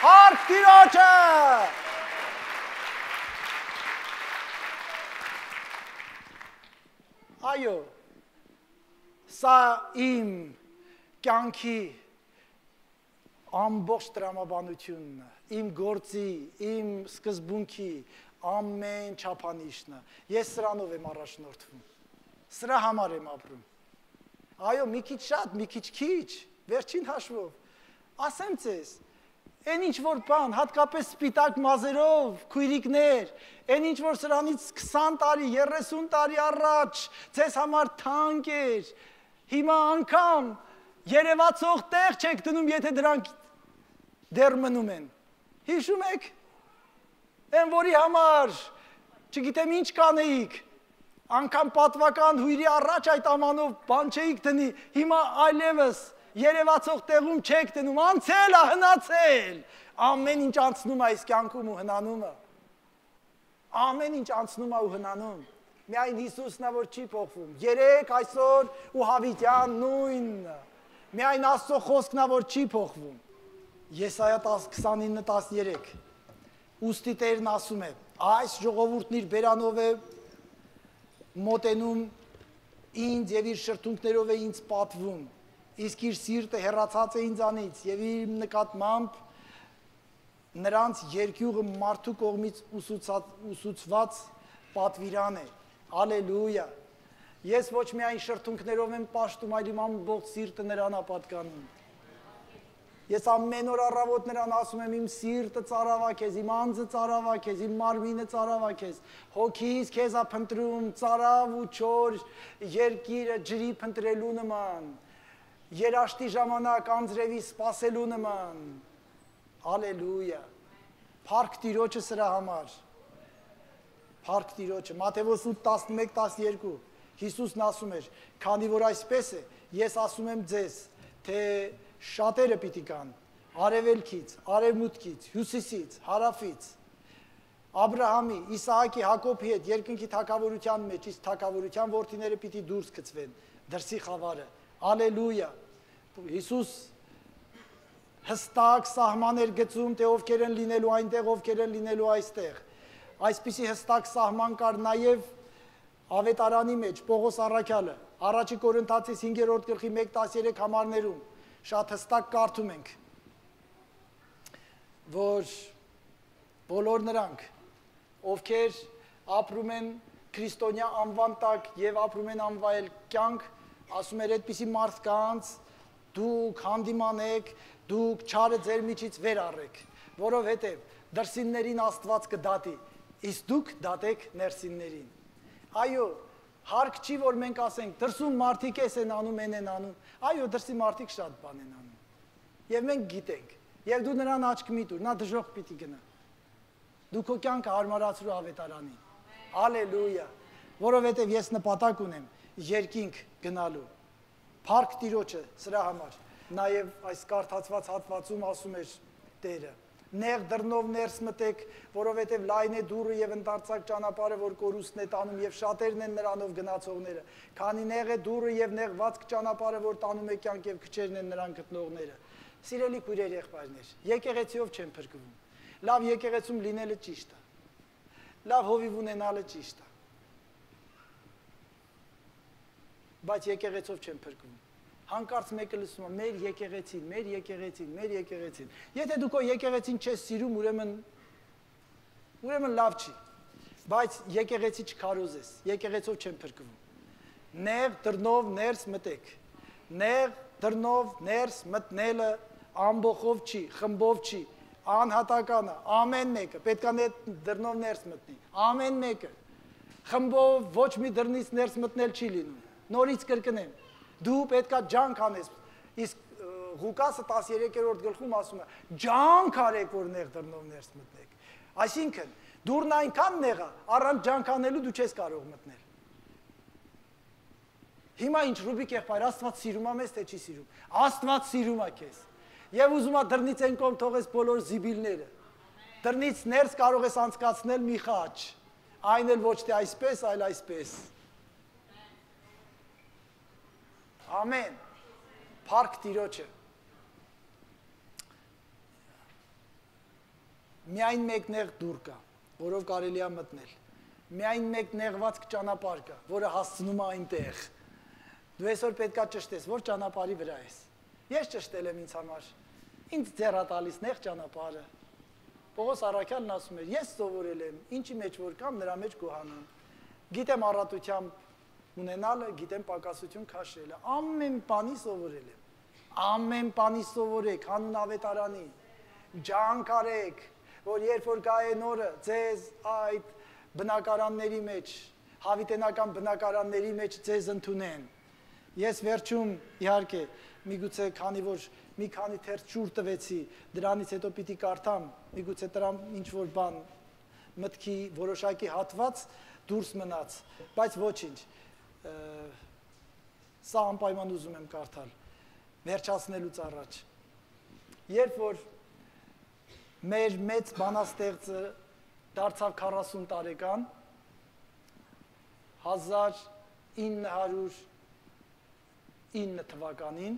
Հարկ Տիրոջը։ Այո, սա իմ կյանքի ամբողջ տրամաբանությունն է, իմ գործի, իմ սկզբունքի ամեն չափանիշն է։ Ես սրանով եմ առաջնորդվում, սրա համար եմ ապրում։ Այո, մի քիչ շատ, մի քիչ քիչ, վերջին հաշվով, ասեմ ձեզ, այն ինչ որ բան, հատկապես սպիտակ մազերով, քույրիկներ, այն ինչ որ սրանից 20 տարի, 30 տարի առաջ ձեզ համար թանկ էր, հիմա անգամ երևացող տեղ չեք դնում, եթե դրանք դեռ մնում են։ Հիշում եք, այն որի համար, չգիտեմ ինչ կանեիք, անգամ պատվական հույրի առաջ այդ ամանով բան չէիք դնի, հիմա այլևս երևացող տեղում չեք դնում, անցել է, հնացել, ամեն ինչ անցնում է այս կյանքում ու հնանում է, ամեն ինչ անցնում է ու հնանում, միայն Հիսուսն է, որ չի փոխվում, երեք, այսօր ու հավիտյան նույնն է, միայն Աստծո խոսքն է, որ չի փոխվում, Եսայա 29:13, ուստի Տերն ասում է, այս ժողովուրդն իր բերանով է մոտենում ինձ եւ իր շրթունքներով է ինձ պատվում, իսկ իր սիրտը հեռացած է ինձանից եւ իր նկատմամբ նրանց երկյուղը մարդու կողմից ուսուցված պատվիրան է։ Հալելույա։ Ես ոչ միայն շրթունքներով եմ պաշտում, այլ իմ ամբողջ սիրտը նրան է պատկանում։ Ես ամեն օր առավոտ նրան ասում եմ, իմ սիրտը ծարավա քեզ, իմ անձը ծարավա քեզ, իմ մարմինը ծարավա քեզ, հոգիս քեզ է փնտրում, ծարավ ու չոր երկիրը ջրի փնտրելու նման, երաշտի ժամանակ անձրևի սպասելու նման, հալելույա, փառք Տիրոջը սրա համար, փառք Տիրոջը, Մատթեոս 8:11-12, Հիսուսն ասում էր, քանի որ այսպես է, ես ասում եմ ձեզ, թե շատերը պիտի կան, արևելքից, արևմուտքից, հյուսիսից, հարավից, Աբրահամի, Իսահակի, Հակոբի հետ երկնքի թագավորության մեջ, իսկ թագավորության որդիները պիտի դուրս գցվեն, դրսի խավարը, Ալելույա, Հիսուս հստակ սահմաններ գծում, թե ովքեր են լինելու այնտեղ, ովքեր են լինելու այստեղ, այսպիսի հստակ սահման կար նաև ավետարանի մեջ, Պողոս առաքյալը, առաջի Կորինթացիս 5-րդ գլխի 1:13 համարներում, շատ հստակ կարդում ենք, որ բոլոր նրանք, ովքեր ապրում են քրիստոնյա անվան տակ եւ ապրում են անվայել կյանք, ասում էր այդպիսի մարդկանց դուք հանդիմանեք, դուք չարը ձեր միջից վեր առեք, որովհետեւ դրսիններին Աստված կդատի, իսկ դուք դատեք ներսիններին։ Այո, հարկ չի, որ մենք ասենք, դրսում մարդիկ են անում, են անում, այո, դրսի մարդիկ շատ բան են անում, և մենք գիտենք, և դու նրան աչք մի տուր, նա դժոխք պիտի գնա, դու քո կյանքը հարմարացրու ավետարանին, հալելույա, որովհետև ես նպատակ ունեմ երկինք գնալու, փառք Տիրոջը սրա համար, նաև այս կարդացված հատվածում ասում էր Տերը, նեղ դռնով ներս մտեք, որովհետև լայն է դուռը և ընդարձակ ճանապարհը, որ կորուստն է տանում և շատերն են նրանով գնացողները, քանի նեղ է դուռը և նեղվածք ճանապարհը, որ տանում է կյանք և քչերն են նրան գտնողները։ Սիրելի քույրեր, եղբայրներ, եկեղեցիով չեն փրկվում։ Լավ եկեղեցում լինելը ճիշտ է։ Լավ հովիվ ունենալը ճիշտ է։ Բայց եկեղեցով չեն փրկվում։ Հանկարծ մեկը լսում է, մեր եկեղեցին, մեր եկեղեցին, մեր եկեղեցին։ Եթե դու քո եկեղեցին չես սիրում, ուրեմն լավ չի։ Բայց եկեղեցի չքարոզես, եկեղեցով չեն փրկվում։ Նեղ դռնով ներս մտեք։ Նեղ դռնով ներս մտնելը ամբողջով չի, խմբով չի, անհատական է, ամեն մեկը պետք է դռնով ներս մտնի։ Ամեն մեկը։ Խմբով ոչ մի դռնից ներս մտնել չի լինում։ Նորից կրկնեմ։ Դու պետք է ջանք անես, իսկ Ղուկասը 13-րդ գլխում ասում է, ջանք արեք, որ նեղ դռնով ներս մտնեք, Այսինքն, դուրն այնքան նեղա, առանց ջանքանելու դու չես կարող մտնել։ Հիմա ինչ Ռուբիկ եղբայր, Աստված սիրում է մեզ, թե չի սիրում։ Աստված սիրում է քեզ։ Եվ ուզում է դռնից են կողմ թողես բոլոր զիբիլները։ Դռնից ներս կարող ես անցկացնել մի խաչ։ Այն էլ ոչ թե այսպես, այլ այսպես։ Ամեն։ Փառք Տիրոջը։ Միայն մեկ նեղ դուռ կա, որով կարելի է մտնել։ Միայն մեկ նեղված ճանապարհ կա, որը հասցնում է այնտեղ։ Դու այսօր պետքա ճշտես, որ ճանապարհի վրա ես։ Ես ճշտել եմ ինձ համար։ Ինձ ձեռա տալիս նեղ ճանապարհը։ Պողոս առաքյալն ասում էր, ես սովորել եմ, ինչի մեջ որ կամ նրա մեջ գոհանամ։ Գիտեմ առատությամբ ունենալը, գիտեմ պակասություն քաշելը։ Ամեն բանի սովորել եմ։ Ամեն բանի սովորեք, հանուն ավետարանի։ Ջանք արեք, որ երբ որ գա այն օրը ձեզ այդ բնակարանների մեջ, հավիտենական բնակարանների մեջ ձեզ ընդունեն։ Ես վերջում իհարկե միգուցե քանի որ մի քանի թերթ ջուր տվեցի, դրանից հետո պիտի կարդամ, միգուցե դրամ ինչ որ բան մտքի որոշակի հատված դուրս մնաց, բայց ոչինչ։ Սա անպայման ուզում եմ կարդալ, վերջացնելուց առաջ։ Երբ որ մեր մեծ բանաստեղծը դարձավ 40 տարեկան, 1909 թվականին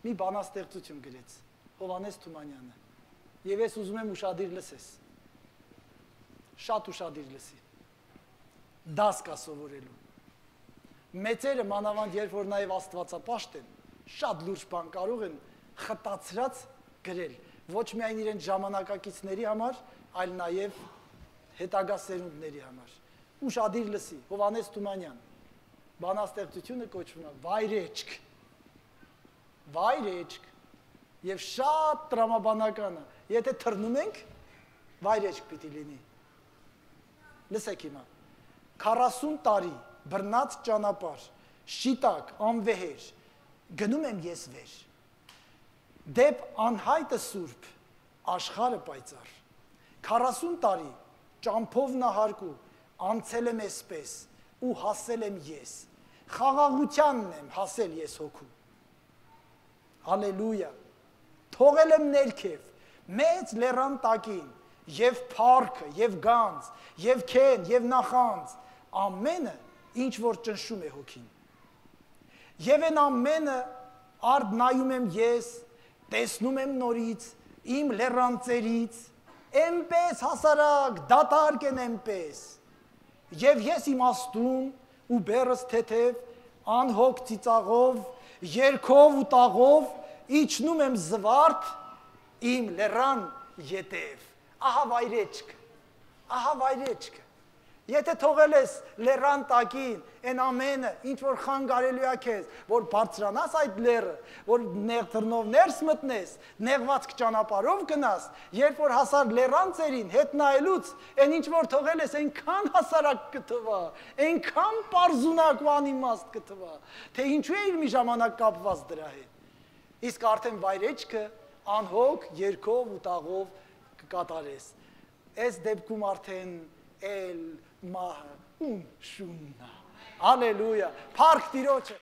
մի բանաստեղծություն գրեց Հովհաննես Թումանյանը, եւ ես ուզում եմ ուշադիր լսես, շատ ուշադիր լսի, դաս կա սովորելու, մեծերը մանավանդ երբ որ նաեւ աստվածապաշտ են, շատ լուրջ բան կարող են խտացրած գրել, ոչ միայն իրենց ժամանակակիցների համար, այլ նաեւ հետագա սերունդների համար, ուշադիր լսի, Հովհաննես Թումանյան, բանաստեղծությունը կոչվում է Վայրեջք, Վայրեջք, եւ շատ տրամաբանական է, եթե թռնում ենք, վայրեջք պիտի լինի, լսեք հիմա, 40 տարի բռնած ճանապարհ, շիտակ, անվեհեր, գնում եմ ես վեր, դեպ անհայտը սուրբ, աշխարհը պայծառ, 40 տարի ճամփով նահարկու, անցել եմ այսպես ու հասել եմ ես, խաղաղությանն եմ հասել ես հոգու, հալելույա, թողել եմ ներքև, մեծ լեռան տակին, եւ փառքը, եւ գանձ, եւ քեն, եւ նախանձ, ամենը, ինչ որ ճնշում է հոգին, եւ այն ամենը արդ նայում եմ ես, տեսնում եմ նորից, իմ լեռանցերից, էնպես հասարակ, դատարկ են էնպես, եւ ես իմաստուն ու բերս թեթև, անհոգ ծիծաղով, երգով ու տաղով, իջնում եմ զվարթ, իմ լեռան ետև, ահա վայրեջք, եթե թողել ես լեռան տակին, են ամենը, ինչ որ խանգարելու է քեզ, որ բարձրանաս այդ լեռը, որ նեղ թռնով ներս մտնես, նեղվածք ճանապարհով գնաս, երբ որ հասար լեռան ծերին, հետ նայելուց, այն ինչ որ թողել ես, այնքան հասարակ կթվա, այնքան պարզունակ ու անիմաստ կթվա, թե ինչու է իր մի ժամանակ կապված դրա հետ, իսկ արդեն վայրեջքը անհոգ, երգով ու տաղով կկատարես, այս դեպքում արդեն էլ մահը ում շուննա, հալելույա, փառք Տիրոջը։